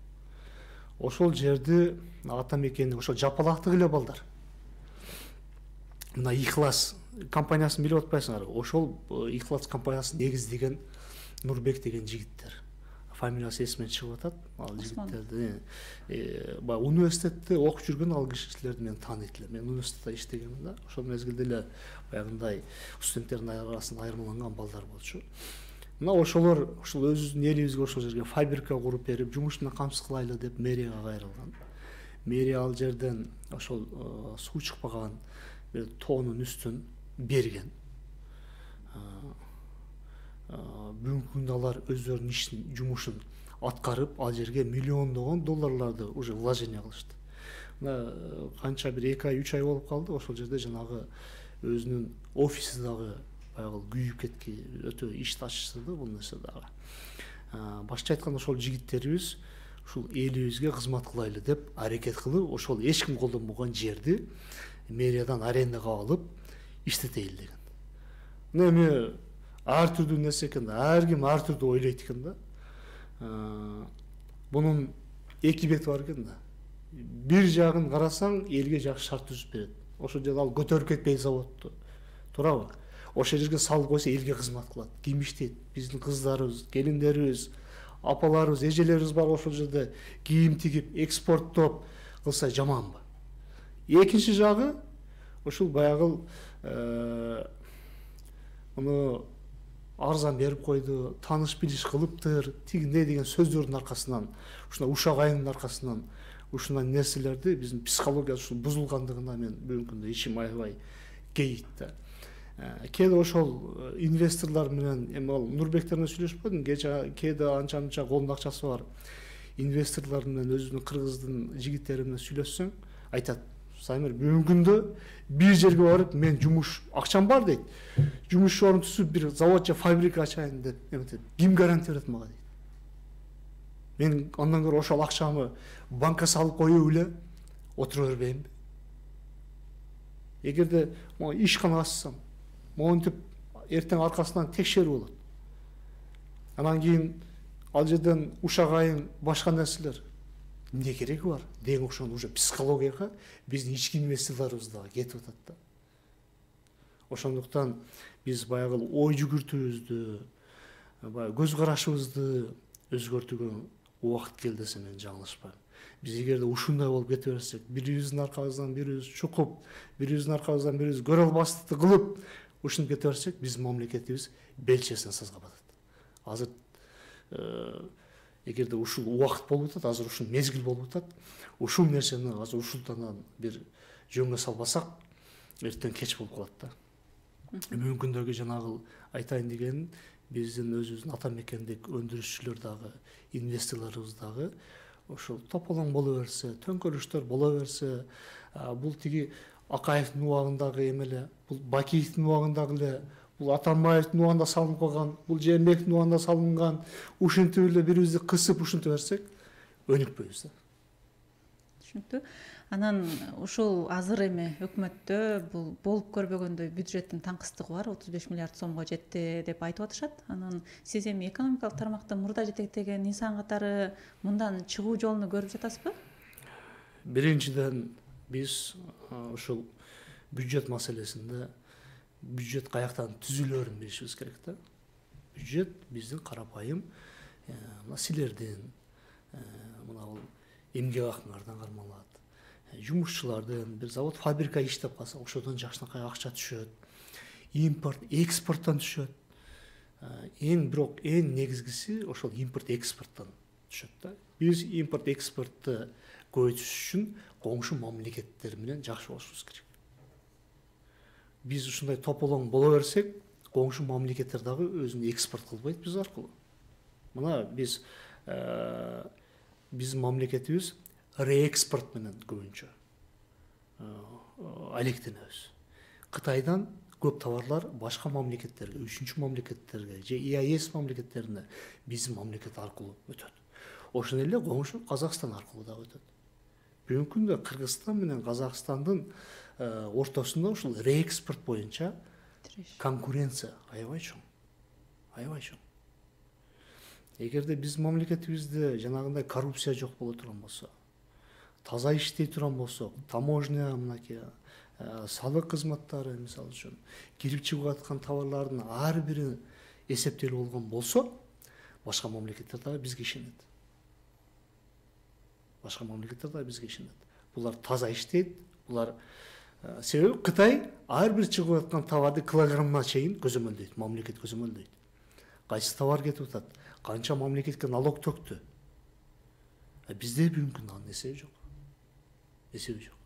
Ошол жерди ата мекенди ошол жапалактык эле балдар. Мына Ихлас компаниясын билип атпайсыңарбы? Ошол Ихлас компаниясын негиздеген Нурбек деген жигиттер. Фамилиясы эсимден чыгып атат. Ал жигиттерди баягы университетте окуп жүргөн ал кишилерди мен тааныйт элем. Мен университетте иштегенмин да. Ошол мезгилде эле баягындай студенттердин арасында айырмаланган балдар болчу. Мына ошолор ушул өзүбүздүн элибизге ошол жерге фабрика куруп берип, жумуш менен камсыз кылайлы деп мэрияга кайрылган. Мэрия ал жерден ошол суу чыкпаган бир тоонун үстүн берген. Бүгүнкү күндө алар өздөрүнүн ишин, жумушун аткарып, ал жерге миллиондогон долларларды уже вложение кылышты. Мына канча бир эки ай, үч ай болуп калды, ошол жерде жанагы өзүнүн офиси дагы баягы күйүп кетки, өтө иш ташчысы да бул нерсе дагы. Башкача айтканда ошол жигиттерибиз ушул элибизге кызмат кылайлы деп аракет кылып, ошол эч ким колдонбогон жерди мэриядан арендага алып иштетейли деген. Мына эми ар түрдүү нерсе экен да, ар ким ар түрдүү ойлойт экен да. Бунун эки бети бар экен да. Бир жагын карасаң, элге жакшы шарт түзүп берет. Ошол жерде ал көтөрүп кетпейт заводду. Туурабы? Ошол жерге салып койсо элге кызмат кылат. Ким иштейт? Биздин кыздарыбыз, келиндерибиз, апаларыбыз, эжелерибиз бар ошол жерде кийим тигип, экспорттоп кылса жаманбы? Экинчи жагы ушул баягы муну арзан берип койду, тааныш билиш кылыптыр, тигиндей деген сөздөрдүн аркасынан, ушундай ушак айымдын аркасынан ушундай нерселерди биздин психология ушул бузулгандыгына мен бүгүнкү күндө ичим аябай кейит да. Кээде ошол инвесторлор менен эми ал Нурбектер менен сүйлөшүп койдум, кээде анча мынча колунда акчасы бар инвесторлор менен өзүнүн кыргыздын жигиттери менен сүйлөшсөң, айтат: Самир, бүгүнкү күндө бир жерге барып мен жумуш акчам бар дейт. Жумуш орун түзүп бир завод же фабрика ачайын деп эметет. Ким гарантия берет мага дейт. Мен андан көрө ошол акчамы банкка салып коюп эле отура бербейинби? Эгерде мага ишкана ачсам, монтип эртең аркасынан текшерүү болот. Анан кийин ал жерден ушак айым, башка нерселер эмне кереги бар деген окшогон уже психологияга биздин ички инвесторлорубуз дагы кетип атат да. Ошондуктан биз баягы ой жүгүртүүбүздү, баягы көз карашыбызды өзгөртүүгө убакыт келди десем мен жаңылышпайм. Биз эгерде ушундай болуп кете берсек, бирибиздин аркабыздан бирибиз чукуп, бирибиздин аркабыздан бирибиз көрө албастыкты кылып ушинтип кете берсек, биздин мамлекетибиз белчесине сазга батат. Азыр эгерде ушул убакыт болуп атат, азыр ушул мезгил болуп атат, ушул нерсени азыр ушултан бир жөнгө салбасак, эртең кеч болуп калат да. Бүгүнкү күндөгү жанагы айтайын дегеним, биздин өзүбүздүн ата мекендик өндүрүшчүлөр дагы, инвесторлорубуз дагы ошол тополоң боло берсе, төңкөрүштөр боло берсе, бул тиги Акаевдин убагындагы эмеле, бул Бакиевдин убагындагы эле, бул Атамбаевдин убагында салынып калган, бул Жээнбековдун убагында салынган, ушинтип эле бирибизди кысып ушинтип берсек, өнүкпөйбүз да. Түшүнүктүү. Анан ушул азыр эми өкмөттө бул болуп көрбөгөндөй бюджеттин таңкыстыгы бар, отуз беш миллиард сомго жетти деп айтып атышат. Анан сиз эми экономикалык тармакта мурда жетектеген инсан катары мындан чыгуу жолун көрүп жатасызбы? Биринчиден биз ушул бюджет маселесинде бюджет каяктан түзүлөөрүн билишибиз керек да. Бюджет биздин карапайым мына силердин, мына бул эмгек акыңардан кармалат. Жумушчулардын бир завод, фабрика иштеп калса, ошодон жакшынакай акча түшөт. Импорт, экспорттон түшөт. Эң бирок эң негизгиси ошол импорт, экспорттон түшөт да. Биз импорт, экспортты көбөйтүш үчүн коңшу мамлекеттер менен жакшы болушубуз керек. Биз ушундай тополоң боло берсек, коңшу мамлекеттер дагы өзүн экспорт кылбайт биз аркылуу. Мына биз биздин мамлекетибиз реэкспорт менен көбүнчө алектенебиз. Кытайдан көп товарлар башка мамлекеттерге, үчүнчү мамлекеттерге же и а е эс мамлекеттерине биздин мамлекет аркылуу өтөт. Ошондой эле коңшу Казакстан аркылуу да өтөт. Бүгүнкү күндө Кыргызстан менен Казакстандын ортосунда ушул реэкспорт боюнча конкуренция аябай чоң. Аябай чоң. Эгерде биз мамлекетибизде жанагындай коррупция жок боло турган болсо, таза иштей турган болсок, таможня, мынакей салык кызматтары мисалы үчүн кирип чыгып аткан товарлардын ар бири эсептелип болгон болсо, башка мамлекеттер дагы бизге ишенет. Башка мамлекеттер дагы бизге ишенет. Булар таза иштейт, булар себеби Кытай ар бир чыгып аткан товарды килограммына чейин көзөмөлдөйт, мамлекет көзөмөлдөйт. Кайсы товар кетип атат, канча мамлекетке налог төктү. Бизде бүгүнкү күндө анын эсеби жок. Эсеби жок.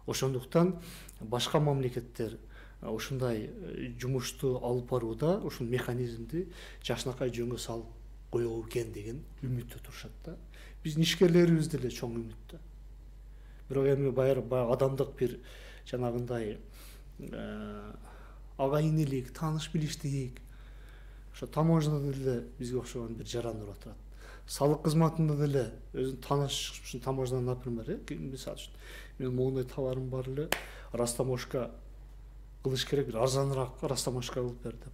Ошондуктан башка мамлекеттер ушундай жумушту алып барууда ушул механизмди жакшынакай жөнгө салып коебу экен деген үмүттө турушат да. Биздин ишкерлерибиз деле чоң үмүттө. Бирок эми баягы адамдык бир жанагындай агайынелик, тааныш билиштик, ошо таможняда деле бизге окшогон бир жарандар отурат. Салык кызматында деле өзүн тааныш ушул таможнядан, например, мисалы үчүн мен моундай товарым бар эле, растаможка кылыш керек, бир арзаныраак растаможка кылып бер деп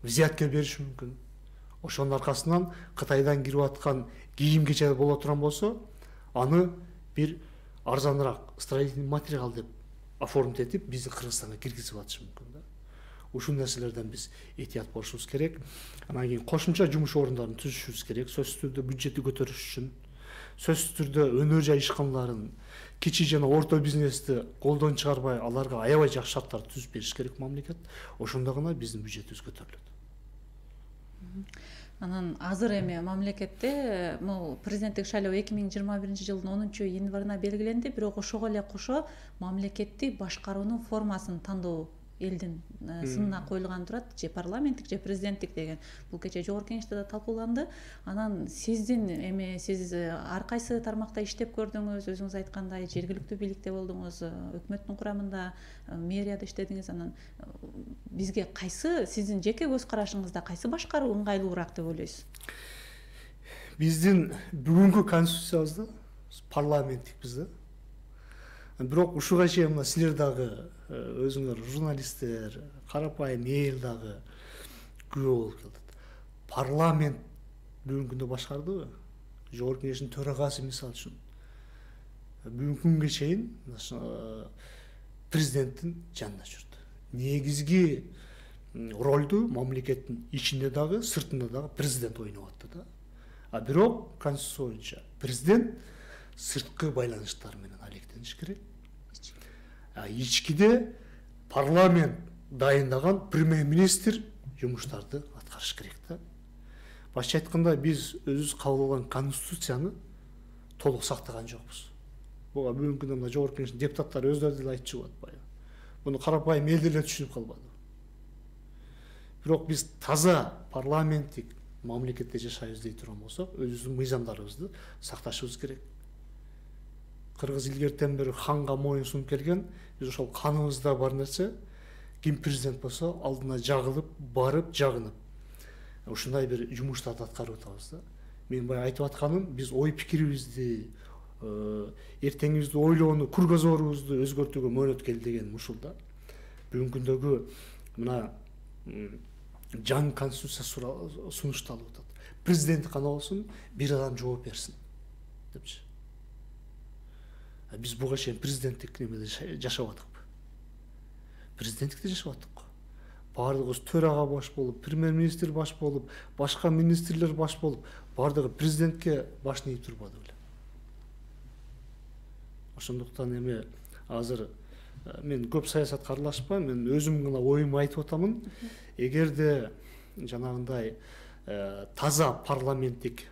взятка бериши мүмкүн. Ошонун аркасынан Кытайдан кирип аткан кийим кече боло турган болсо, аны бир арзаныраак строительный материал деп оформить этип биздин Кыргызстанга киргизип атышы мүмкүн да. Ушул нерселерден биз этият болушубуз керек. Анан кийин кошумча жумуш орундарын түзүшүбүз керек. Сөзсүз түрдө бюджетти көтөрүш үчүн, сөзсүз түрдө өнөр жай ишканаларын, кичи жана орто бизнести колдон чыгарбай, аларга аябай жакшы шарттар түзүп бериш керек мамлекет. Ошондо гана биздин бюджетибиз көтөрүлөт. Анан азыр эми мамлекетте могу президенттик шайлоо эки миң жыйырма биринчи жылдын онунчу январына белгиленди, бирок ошого эле кошо мамлекетти башкаруунун формасын тандоо элдин сынына коюлган турат, же парламенттик же президенттик деген. Бул кече жогорку кеңеште да талкууланды. Анан сиздин эми сиз ар кайсы тармакта иштеп көрдүңүз, өзүңүз айткандай жергиликтүү бийликте болдуңуз, өкмөттүн курамында, мэрияда иштедиңиз. Анан бизге кайсы сиздин жеке көз карашыңызда кайсы башкаруу ыңгайлуураак деп ойлойсуз? Биздин бүгүнкү конституциябызда парламенттикпиз да. Бирок ушуга чейин мына силер дагы өзүңөр журналисттер, карапайым эл дагы күбө болуп келдит. Парламент бүгүнкү күндө башкардыбы? Жогорку кеңештин төрагасы мисалы үчүн бүгүнкү күнгө чейин президенттин жанында жүрдү. Негизги ролду мамлекеттин ичинде дагы, сыртында дагы президент ойноп атты да. А бирок конституция боюнча президент сырткы байланыштар менен алектениш керек. А ичкиде парламент дайындаган премьер-министр жумуштарды аткарыш керек да. Башкача айтканда биз өзүбүз кабыл алган конституцияны толук сактаган жокпуз. Буга бүгүнкү күндө жогорку кеңештин депутаттары өздөрү деле айтып чыгып атпайбы? Буну карапайым эл деле түшүнүп калбады. Бирок биз таза парламенттик мамлекетте жашайбыз дей турган болсок, өзүбүздүн мыйзамдарыбызды сакташыбыз керек. Кыргыз илгертен бери ханга моюн сунуп келген, биз ошол каныбызда бар нерсе, ким президент болсо алдына жагылып, барып, жагынып ушундай бир жумуштарды аткарып атабыз да. Мен баягы айтып атканым, биз ой пикирибизди, эртеңибизди ойлоону, кругозорубузду өзгөртүүгө мөөнөт келди деген ушул да. Бүгүнкү күндөгү мына жаңы конституция сунушталып атат. Президент гана болсун, бир адам жооп берсин депчи. Биз буга чейин президенттик немеде жашап атыкпы? Президенттикте жашап атык. Бардыгыбыз төрага баш болуп, премьер-министр баш болуп, башка министрлер баш болуп, бардыгы президентке башын ийип турбады беле. Ошондуктан эми азыр мен көп саясатка аралашпайм, мен өзүм гана оюмду айтып атамын. Эгерде жанагындай таза парламенттик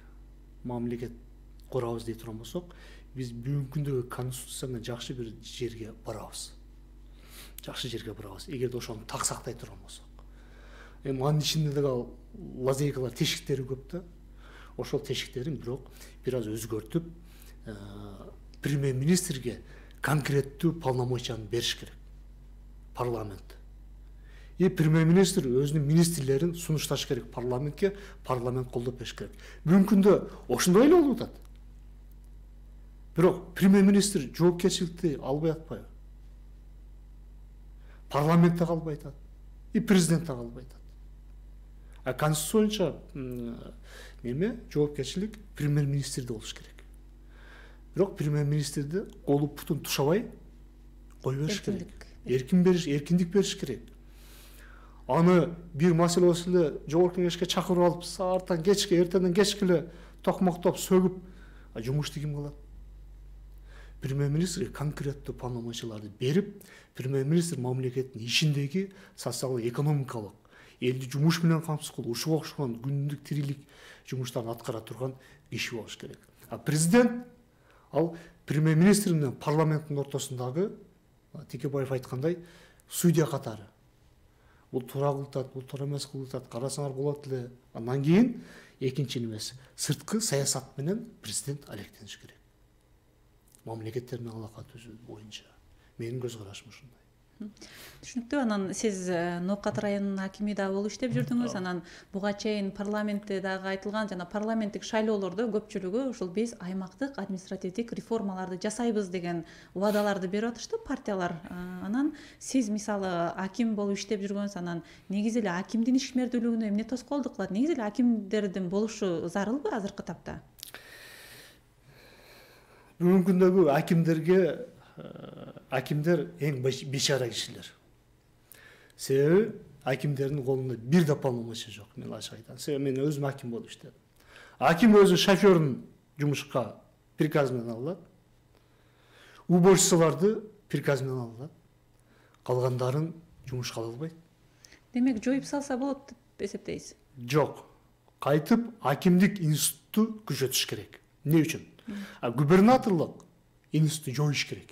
мамлекет курабыз дей турган болсок, биз бүгүнкү күндөгү конституция менен жакшы бир жерге барабыз. Жакшы жерге барабыз. Эгерде ошону так сактай турган болсок. Эми анын ичинде дагы лазейкалар, тешиктери көп да. Ошол тешиктерин бирок бир аз өзгөртүп, премьер-министрге конкреттүү полномочияны бериш керек. Парламент. И премьер-министр өзүнүн министрлерин сунушташ керек парламентке, парламент колдоп бериш керек. Бүгүнкү күндө ошондой эле болуп атат. Бирок премьер министр жоопкерчиликти албай атпайбы? Парламент да калбай атат, и президент да калбай атат. А конституция боюнча неме жоопкерчилик премьер министрде болуш керек. Бирок премьер министрди колу бутун тушабай кой бериш керек. Эркин бериш, эркиндик бериш керек. Аны бир маселе болсо эле жогорку кеңешке чакырып алып, сааттан кечке, эртеден кечке эле токмоктоп, сөгүп, жумушту ким кылат? Премьер министрге конкреттүү полномочияларды берип, премьер министр мамлекеттин ишиндеги социалдык, экономикалык, элди жумуш менен камсыз кылуу, ушуга окшогон күндүк тирилик жумуштарын аткара турган киши болуш керек. А президент ал премьер министр менен парламенттин ортосундагы, Текебаев айткандай, судья катары. Бул туура кылып, бул туура эмес кылып атат, карасаңар болот эле. Андан кийин экинчи эмес, сырткы саясат менен президент алектениш керек. Мамлекеттер менен алака түзүү боюнча. Менин көз карашым ушундай. Түшүнүктүү. Анан сиз Ноокат районунун акими да болуп иштеп жүрдүңүз. Анан буга чейин парламентте дагы айтылган жана парламенттик шайлоолордо көпчүлүгү ушул биз аймактык административдик реформаларды жасайбыз деген убадаларды берип атышты партиялар. Анан сиз мисалы аким болуп иштеп жүргөнсүз, анан негизи эле акимдин ишмердүүлүгүнө эмне тоскоолдук кылат? Негизи эле акимдердин болушу зарылбы азыркы тапта? Бүгүнкү күндөгү акимдерге акимдер эң бечара кишилер. Себеби акимдердин колунда бир да полномочия жок. Мен ачык айтам. Себеби мен өзүм аким болуп иштедим. Аким өзү шоферин жумушка приказ менен алат. Уборщицаларды приказ менен алат. Калгандарын жумушка ала албайт. Демек, жоюп салса болот деп эсептейсиз? Жок. Кайтып акимдик институтту күчөтүш керек. Эмне үчүн? А губернаторлук институту жоюш керек.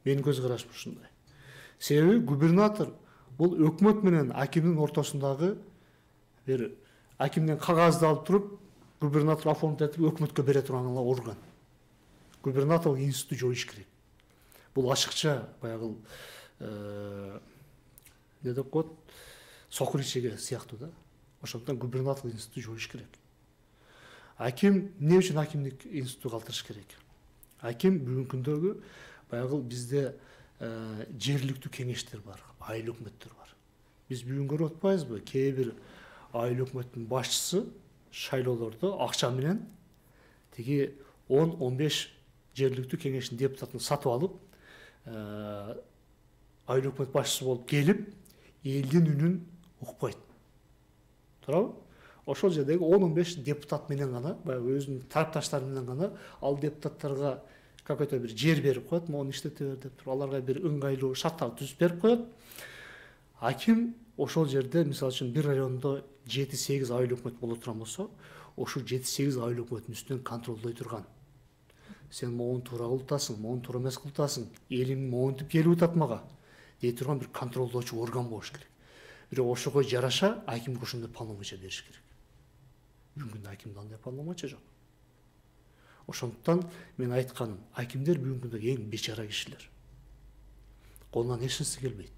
Менин көз карашым ушундай. Себеби губернатор бул өкмөт менен акимдин ортосундагы бир акимден кагазды алып туруп, губернатор оформить этип өкмөткө бере турган эле орган. Губернаторлук институту жоюш керек. Бул ашыкча баягы эмне деп коет, сокуричеге сыяктуу да. Ошондуктан губернаторлук институту жоюш керек. Аким эмне үчүн акимдик институту калтырыш керек? Аким бүгүнкү күндөгү баягы бизде жергиликтүү кеңештер бар, айыл өкмөттөр бар. Биз бүгүн көрүп атпайбызбы? Кээ бир айыл өкмөттүн башчысы шайлоолордо акча менен тиги он он беш жергиликтүү кеңештин депутатын сатып алып, айыл өкмөт башчысы болуп келип, элдин үнүн укпайт. Туурабы? Ошол жердеги он он беш депутат менен гана, баягы өзүнүн тарапташтары менен гана ал депутаттарга какой-то бир жер берип коет, мону иштете бер деп туруп, аларга бир ыңгайлуу шарттарды түзүп берип коет. Аким ошол жерде, мисалы үчүн, бир райондо жети сегиз айыл өкмөт боло турган болсо, ошол жети сегиз айыл өкмөтүнүн үстүнөн контролдой турган. Сен могуну туура кылып атасың, могуну туура эмес кылып атасың, элиң могунтип келип атат мага дей турган бир контролдоочу орган болуш керек. Бирок ошого жараша акимге ошондой полномочия бериш керек. Бүгүнкү акимде андай полномочия жок. Ошондуктан мен айтканым, акимдер бүгүнкү эң бечара кишилер. Колунан эч нерсе келбейт.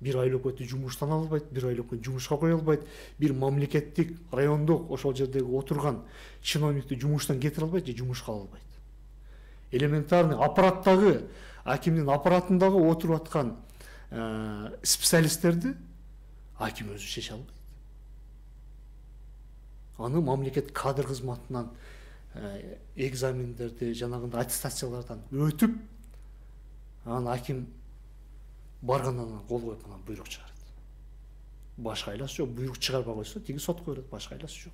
Бир айыл өкмөтү жумуштан албайт, бир айыл өкмөт жумушка кое албайт, бир мамлекеттик, райондук ошол жердеги отурган чиновникти жумуштан кетире албайт же жумушка ала албайт. Элементарный аппараттагы, акимдин аппаратындагы отуруп аткан специалисттерди аким өзү чече албайт. Аны мамлекет кадр кызматынан экзамендерди, жанагындай аттестациялардан өтүп, анан аким баргандан кол коюп анан буйрук чыгарат. Башка айласы жок, буйрук чыгарбай койсо, тиги сотко берет, башка айласы жок.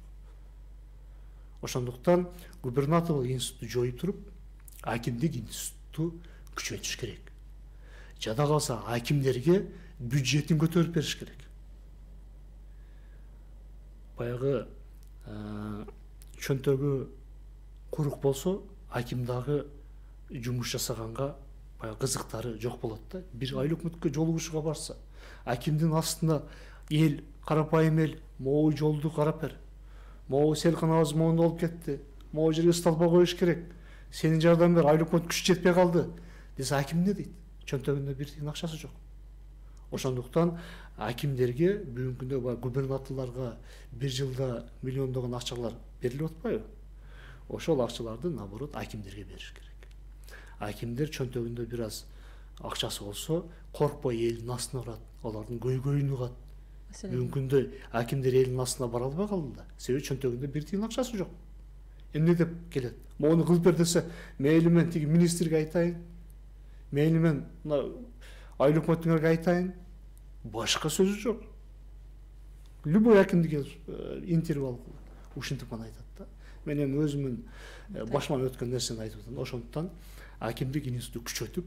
Ошондуктан губернаторлук институту жоюп туруп, акимдик институту күчөтүш керек. Жада калса акимдерге бюджетин көтөрүп бериш керек. Баягы чөнтөгү курук болсо, аким дагы жумуш жасаганга баягы кызыктары жок болот да. Бир айыл өкмөткө жолугушууга барса, акимдин астында эл, карапайым эл, могу жолду карап бер. Могу селканабыз моунда болуп кетти. Могу жерге столба коюш керек. Сенин жардам бер, айыл өкмөт күч жетпей калды десе, аким эмне дейт? Чөнтөгүндө бир тиын акчасы жок. Ошондуктан акимдерге бүгүнкү күндө губернаторлорго бир жылда миллиондогон акчалар берилип атпайбы? ошол акчаларды наоборот акимдерге бериш керек. Акимдер чөнтөгүндө бир аз акчасы болсо коркпой элдин астына барат, алардын көйгөйүн угат. Бүгүнкү күндө акимдер элдин астына бара албай калды да, себеби чөнтөгүндө бир тыйын акчасы жок. Эмне деп келет? Мону кылып бер десе, мейли мен тиги министрге айтайын, мейли мен мына айыл өкмөтүңөргө айтайын, башка сөзү жок. Любой акимдике интервью алып ушинтип гана айтат да. Мен эми өзүмүн башыман өткөн нерсени айтып атам. Ошондуктан акимдик институту күчөтүп,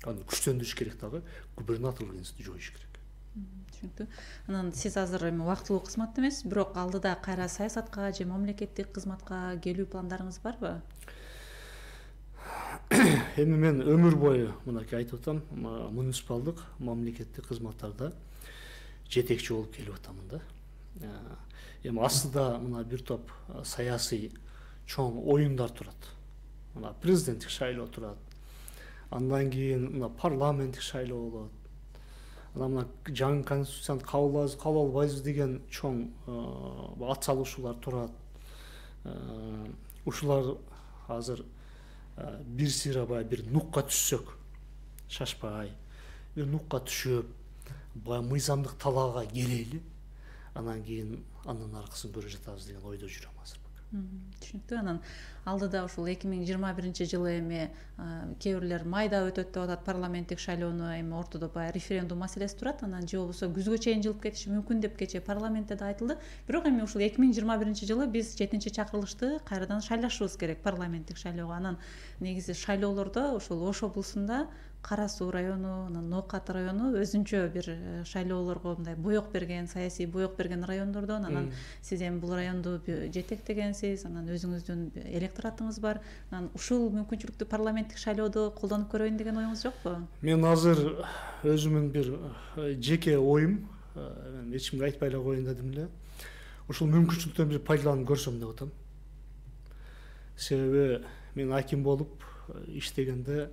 аны күчтөндүрүш керек дагы, губернаторлук институту жоюш керек. Түшүнүктүү. Анан сиз азыр эми убактылуу кызматта эмессиз, бирок алдыда кайра саясатка же мамлекеттик кызматка келүү пландарыңыз барбы? Эми мен өмүр бою мынакей айтып атам, муниципалдык мамлекеттик кызматтарда жетекчи болуп келип атамын да. Эми астыда мына бир топ саясий чоң оюндар турат. Мына президенттик шайлоо турат. Андан кийин мына парламенттик шайлоо болот. Анан мына жаңы конституцияны кабыл албайбыз деген чоң ат салышуулар турат. Ушулар азыр бир сыйрабай бир нукка түшсөк, шашпай, бир нукка түшүп, баягы мыйзамдык талаага келели, анан кийин анын аркасын көрө жатабыз деген ойдо жүрөм азыр. Түшүнүктүү. Анан алдыда ушул эки миң жыйырма биринчи жылы эми кээ бирлер майда өтөт деп атат парламенттик шайлоону, эми ортодо баягы референдум маселеси турат, анан же болбосо күзгө чейин жылып кетиши мүмкүн деп кечээ парламентте да айтылды. Бирок эми ушул эки миң жыйырма биринчи жылы биз жетинчи чакырылышты кайрадан шайлашыбыз керек парламенттик шайлоого. Анан негизи шайлоолордо ушул Ош облусунда Кара Суу району, анан Ноокат району өзүнчө бир шайлоолорго мындай боек берген, саясий боек берген райондордон. Анан сиз эми бул районду жетектегенсиз, анан өзүңүздүн электоратыңыз бар. Анан ушул мүмкүнчүлүктү парламенттик шайлоодо колдонуп көрөйүн деген оюңуз жокпу? Мен азыр өзүмүн бир жеке оюм, эч кимге айтпай эле коеюн дедим эле. Ушул мүмкүнчүлүктөн бир пайдаланып көрсөм деп атам. Себеби мен аким болуп иштегенде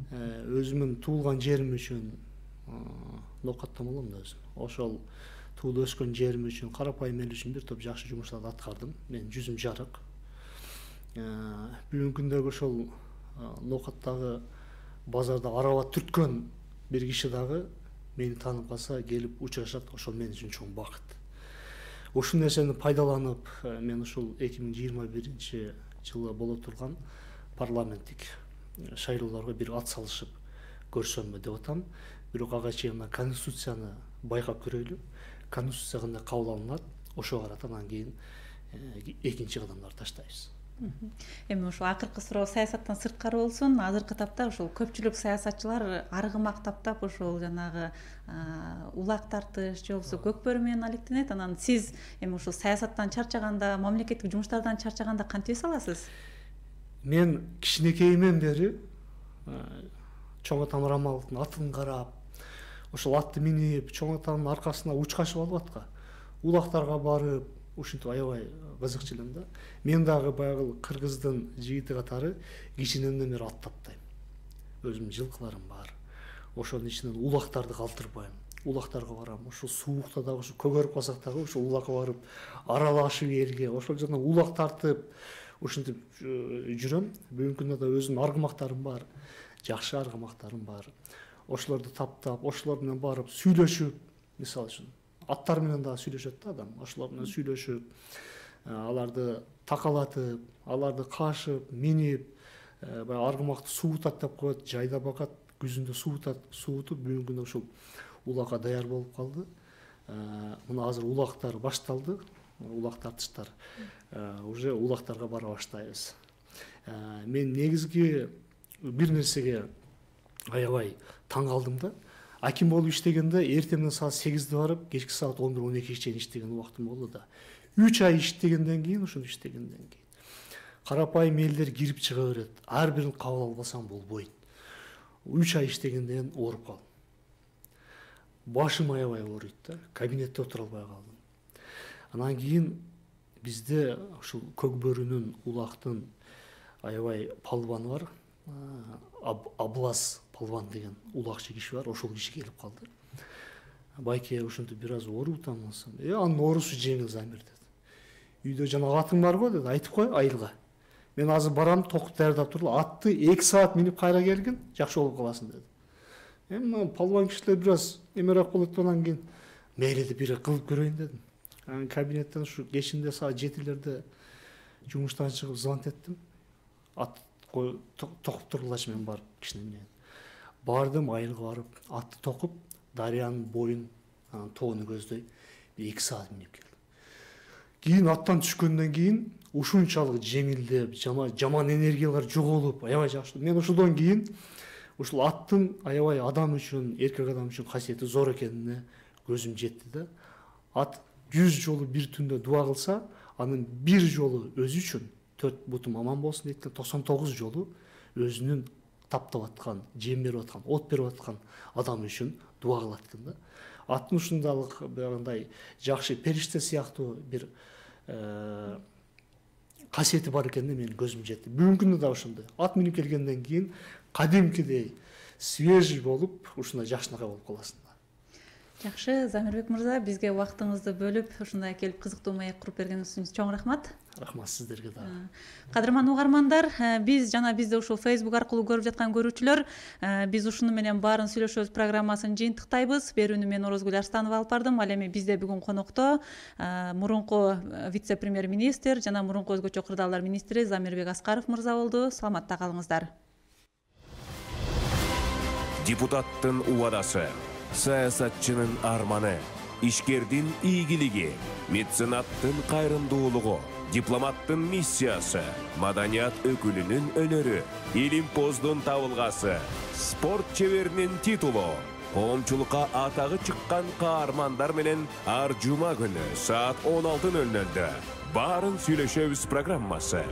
өзүмүн туулган жерим үчүн Ноокаттан болом да өзүм. Ошол туулуп өскөн жерим үчүн, карапайым эл үчүн бир топ жакшы жумуштарды аткардым. Мен жүзүм жарык. Бүгүнкү күндөгү ошол Ноокаттагы базарда араба түрткөн бир киши дагы мени таанып калса, келип учурашат. Ошол мен үчүн чоң бакыт. Ушул нерсени пайдаланып, мен ушул эки миң жыйырма биринчи жылы боло турган парламенттик шайлоолорго бир ат салышып көрсөмбү деп атам. Бирок ага чейин мына конституцияны байкап көрөлү. Конституция кандай кабыл алынат, ошого карата анан кийин экинчи кадамдарды таштайбыз. Эми ушул акыркы суроо саясаттан сырткары болсун. Азыркы тапта ушул көпчүлүк саясатчылар аргымак таптап ушул жанагы улак тартыш же болбосо көкбөрү менен алектенет. Анан сиз эми ушул саясаттан чарчаганда, мамлекеттик жумуштардан чарчаганда кантип эс аласыз? Мен кичинекейимден бери чоң атам Рамаловдун атын карап, ошол атты минип, чоң атамдын аркасына учкашып алып атка, улактарга барып, ушинтип аябай кызыкчу элем да. Мен дагы баягы кыргыздын жигити катары кичинемден бери ат таптайм. Өзүмдүн жылкыларым бар. Ошонун ичинен улактарды калтырбайм. Улактарга барам. Ошол суукта дагы ушу көгөрүп калсак дагы ошол улакка барып аралашып элге, ошол жерден улак тартып ушинтип жүрөм. Бүгүнкү күндө да өзүмдүн аргымактарым бар. Жакшы аргымактарым бар. Ошолорду таптап, ошолор менен барып сүйлөшүп, мисалы үчүн аттар менен дагы сүйлөшөт да адам. Ошолор менен сүйлөшүп, аларды такалатып, аларды кашып, минип, баягы аргымакты суутат деп коет, жайда багат, күзүндө суутат, суутуп бүгүнкү күндө ушул улакка даяр болуп калды. Мына азыр улактар башталды. Улак тартыштар. Уже улактарга бара баштайбыз. Мен негизги бир нерсеге аябай таң калдым да. Аким болуп иштегенде эртеңден саат сегизде барып, кечки саат он бир он экиге чейин иштеген убактым болду да. үч ай иштегенден кийин, ошону иштегенден кийин карапайым элдер кирип чыга берет. Ар бирин кабыл албасаң болбойт. үч ай иштегенден ооруп калдым. Башым аябай ооруйт да. Кабинетте отура албай калдым. Анан кийин бизде ушул көкбөрүнүн, улактын аябай палваны бар. Аблаз палван деген улакчы киши бар. Ошол киши келип калды. Байке ушинтип бир аз ооруп атамсың. Э, анын оорусу жеңил Замир деди. Үйдө жана атың бар го деди, айтып кой айылга. мен азыр барам, токут даярдап туруп, атты эки саат минип кайра келгин, жакшы болуп каласың деди. Эми палван кишилер бир аз эмерээк болот, анан кийин мейли деп бир кылып көрөйүн дедим. Анан кабинеттен ушу кечинде саат жетилерде жумуштан чыгып звонок эттим. Ат токуп тургулачы, мен барып кичине менен. Бардым, айылга барып, атты токуп, дарыянын боюн, анан тоону көздөй эки саат минип келдим. Кийин аттан түшкөндөн кийин ушунчалык жеңилдеп, жаман энергиялар жоголуп, аябай жакшы. Мен ушудан кийин ушул аттын аябай адам үчүн, эркек адам үчүн касиети зор экенине көзүм жетти да. Ат жүз жолу бир түндө дуа кылса, анын бир жолу өзү үчүн төрт бутум аман болсун дейт, токсон тогуз жолу өзүнүн таптап аткан, жем берип аткан, от берип аткан адам үчүн дуа кылат экен да. Аттын ушундайлык андай жакшы периште сыяктуу бир касиети бар экенине менин көзүм жетти. Бүгүнкү күндө да ошондой. Ат минип келгенден кийин кадимкидей свежий болуп, ушундай жакшынакай болуп каласың. Жакшы, Замирбек мырза, бизге убактыңызды бөлүп, ушундай келип кызыктуу маек куруп бергениңиз үчүн чоң рахмат. Рахмат сиздерге да. Кадырман угармандар, биз жана бизди ушул Facebook аркылуу көрүп жаткан көрүүчүлөр, биз ушуну менен баарын сүйлөшөбүз программасын жыйынтыктайбыз. Берүүнү мен Орозгүл Арстанова алып бардым. Ал эми бизде бүгүн конокто мурунку вице-премьер-министр жана мурунку өзгөчө кырдаалдар министри Замирбек Аскаров мырза болду. Саламатта калыңыздар. Депутаттын убадасы, саясатчынын арманы, ишкердин ийгилиги, меценаттын кайрымдуулугу, дипломаттын миссиясы, маданият өкүлүнүн өнөрү, илимпоздун табылгасы, спорт чеберинин титулу, коомчулукка атагы чыккан каармандар менен ар жума күнү саат он алты нөл нөлдө баарын сүйлөшөбүз программасы.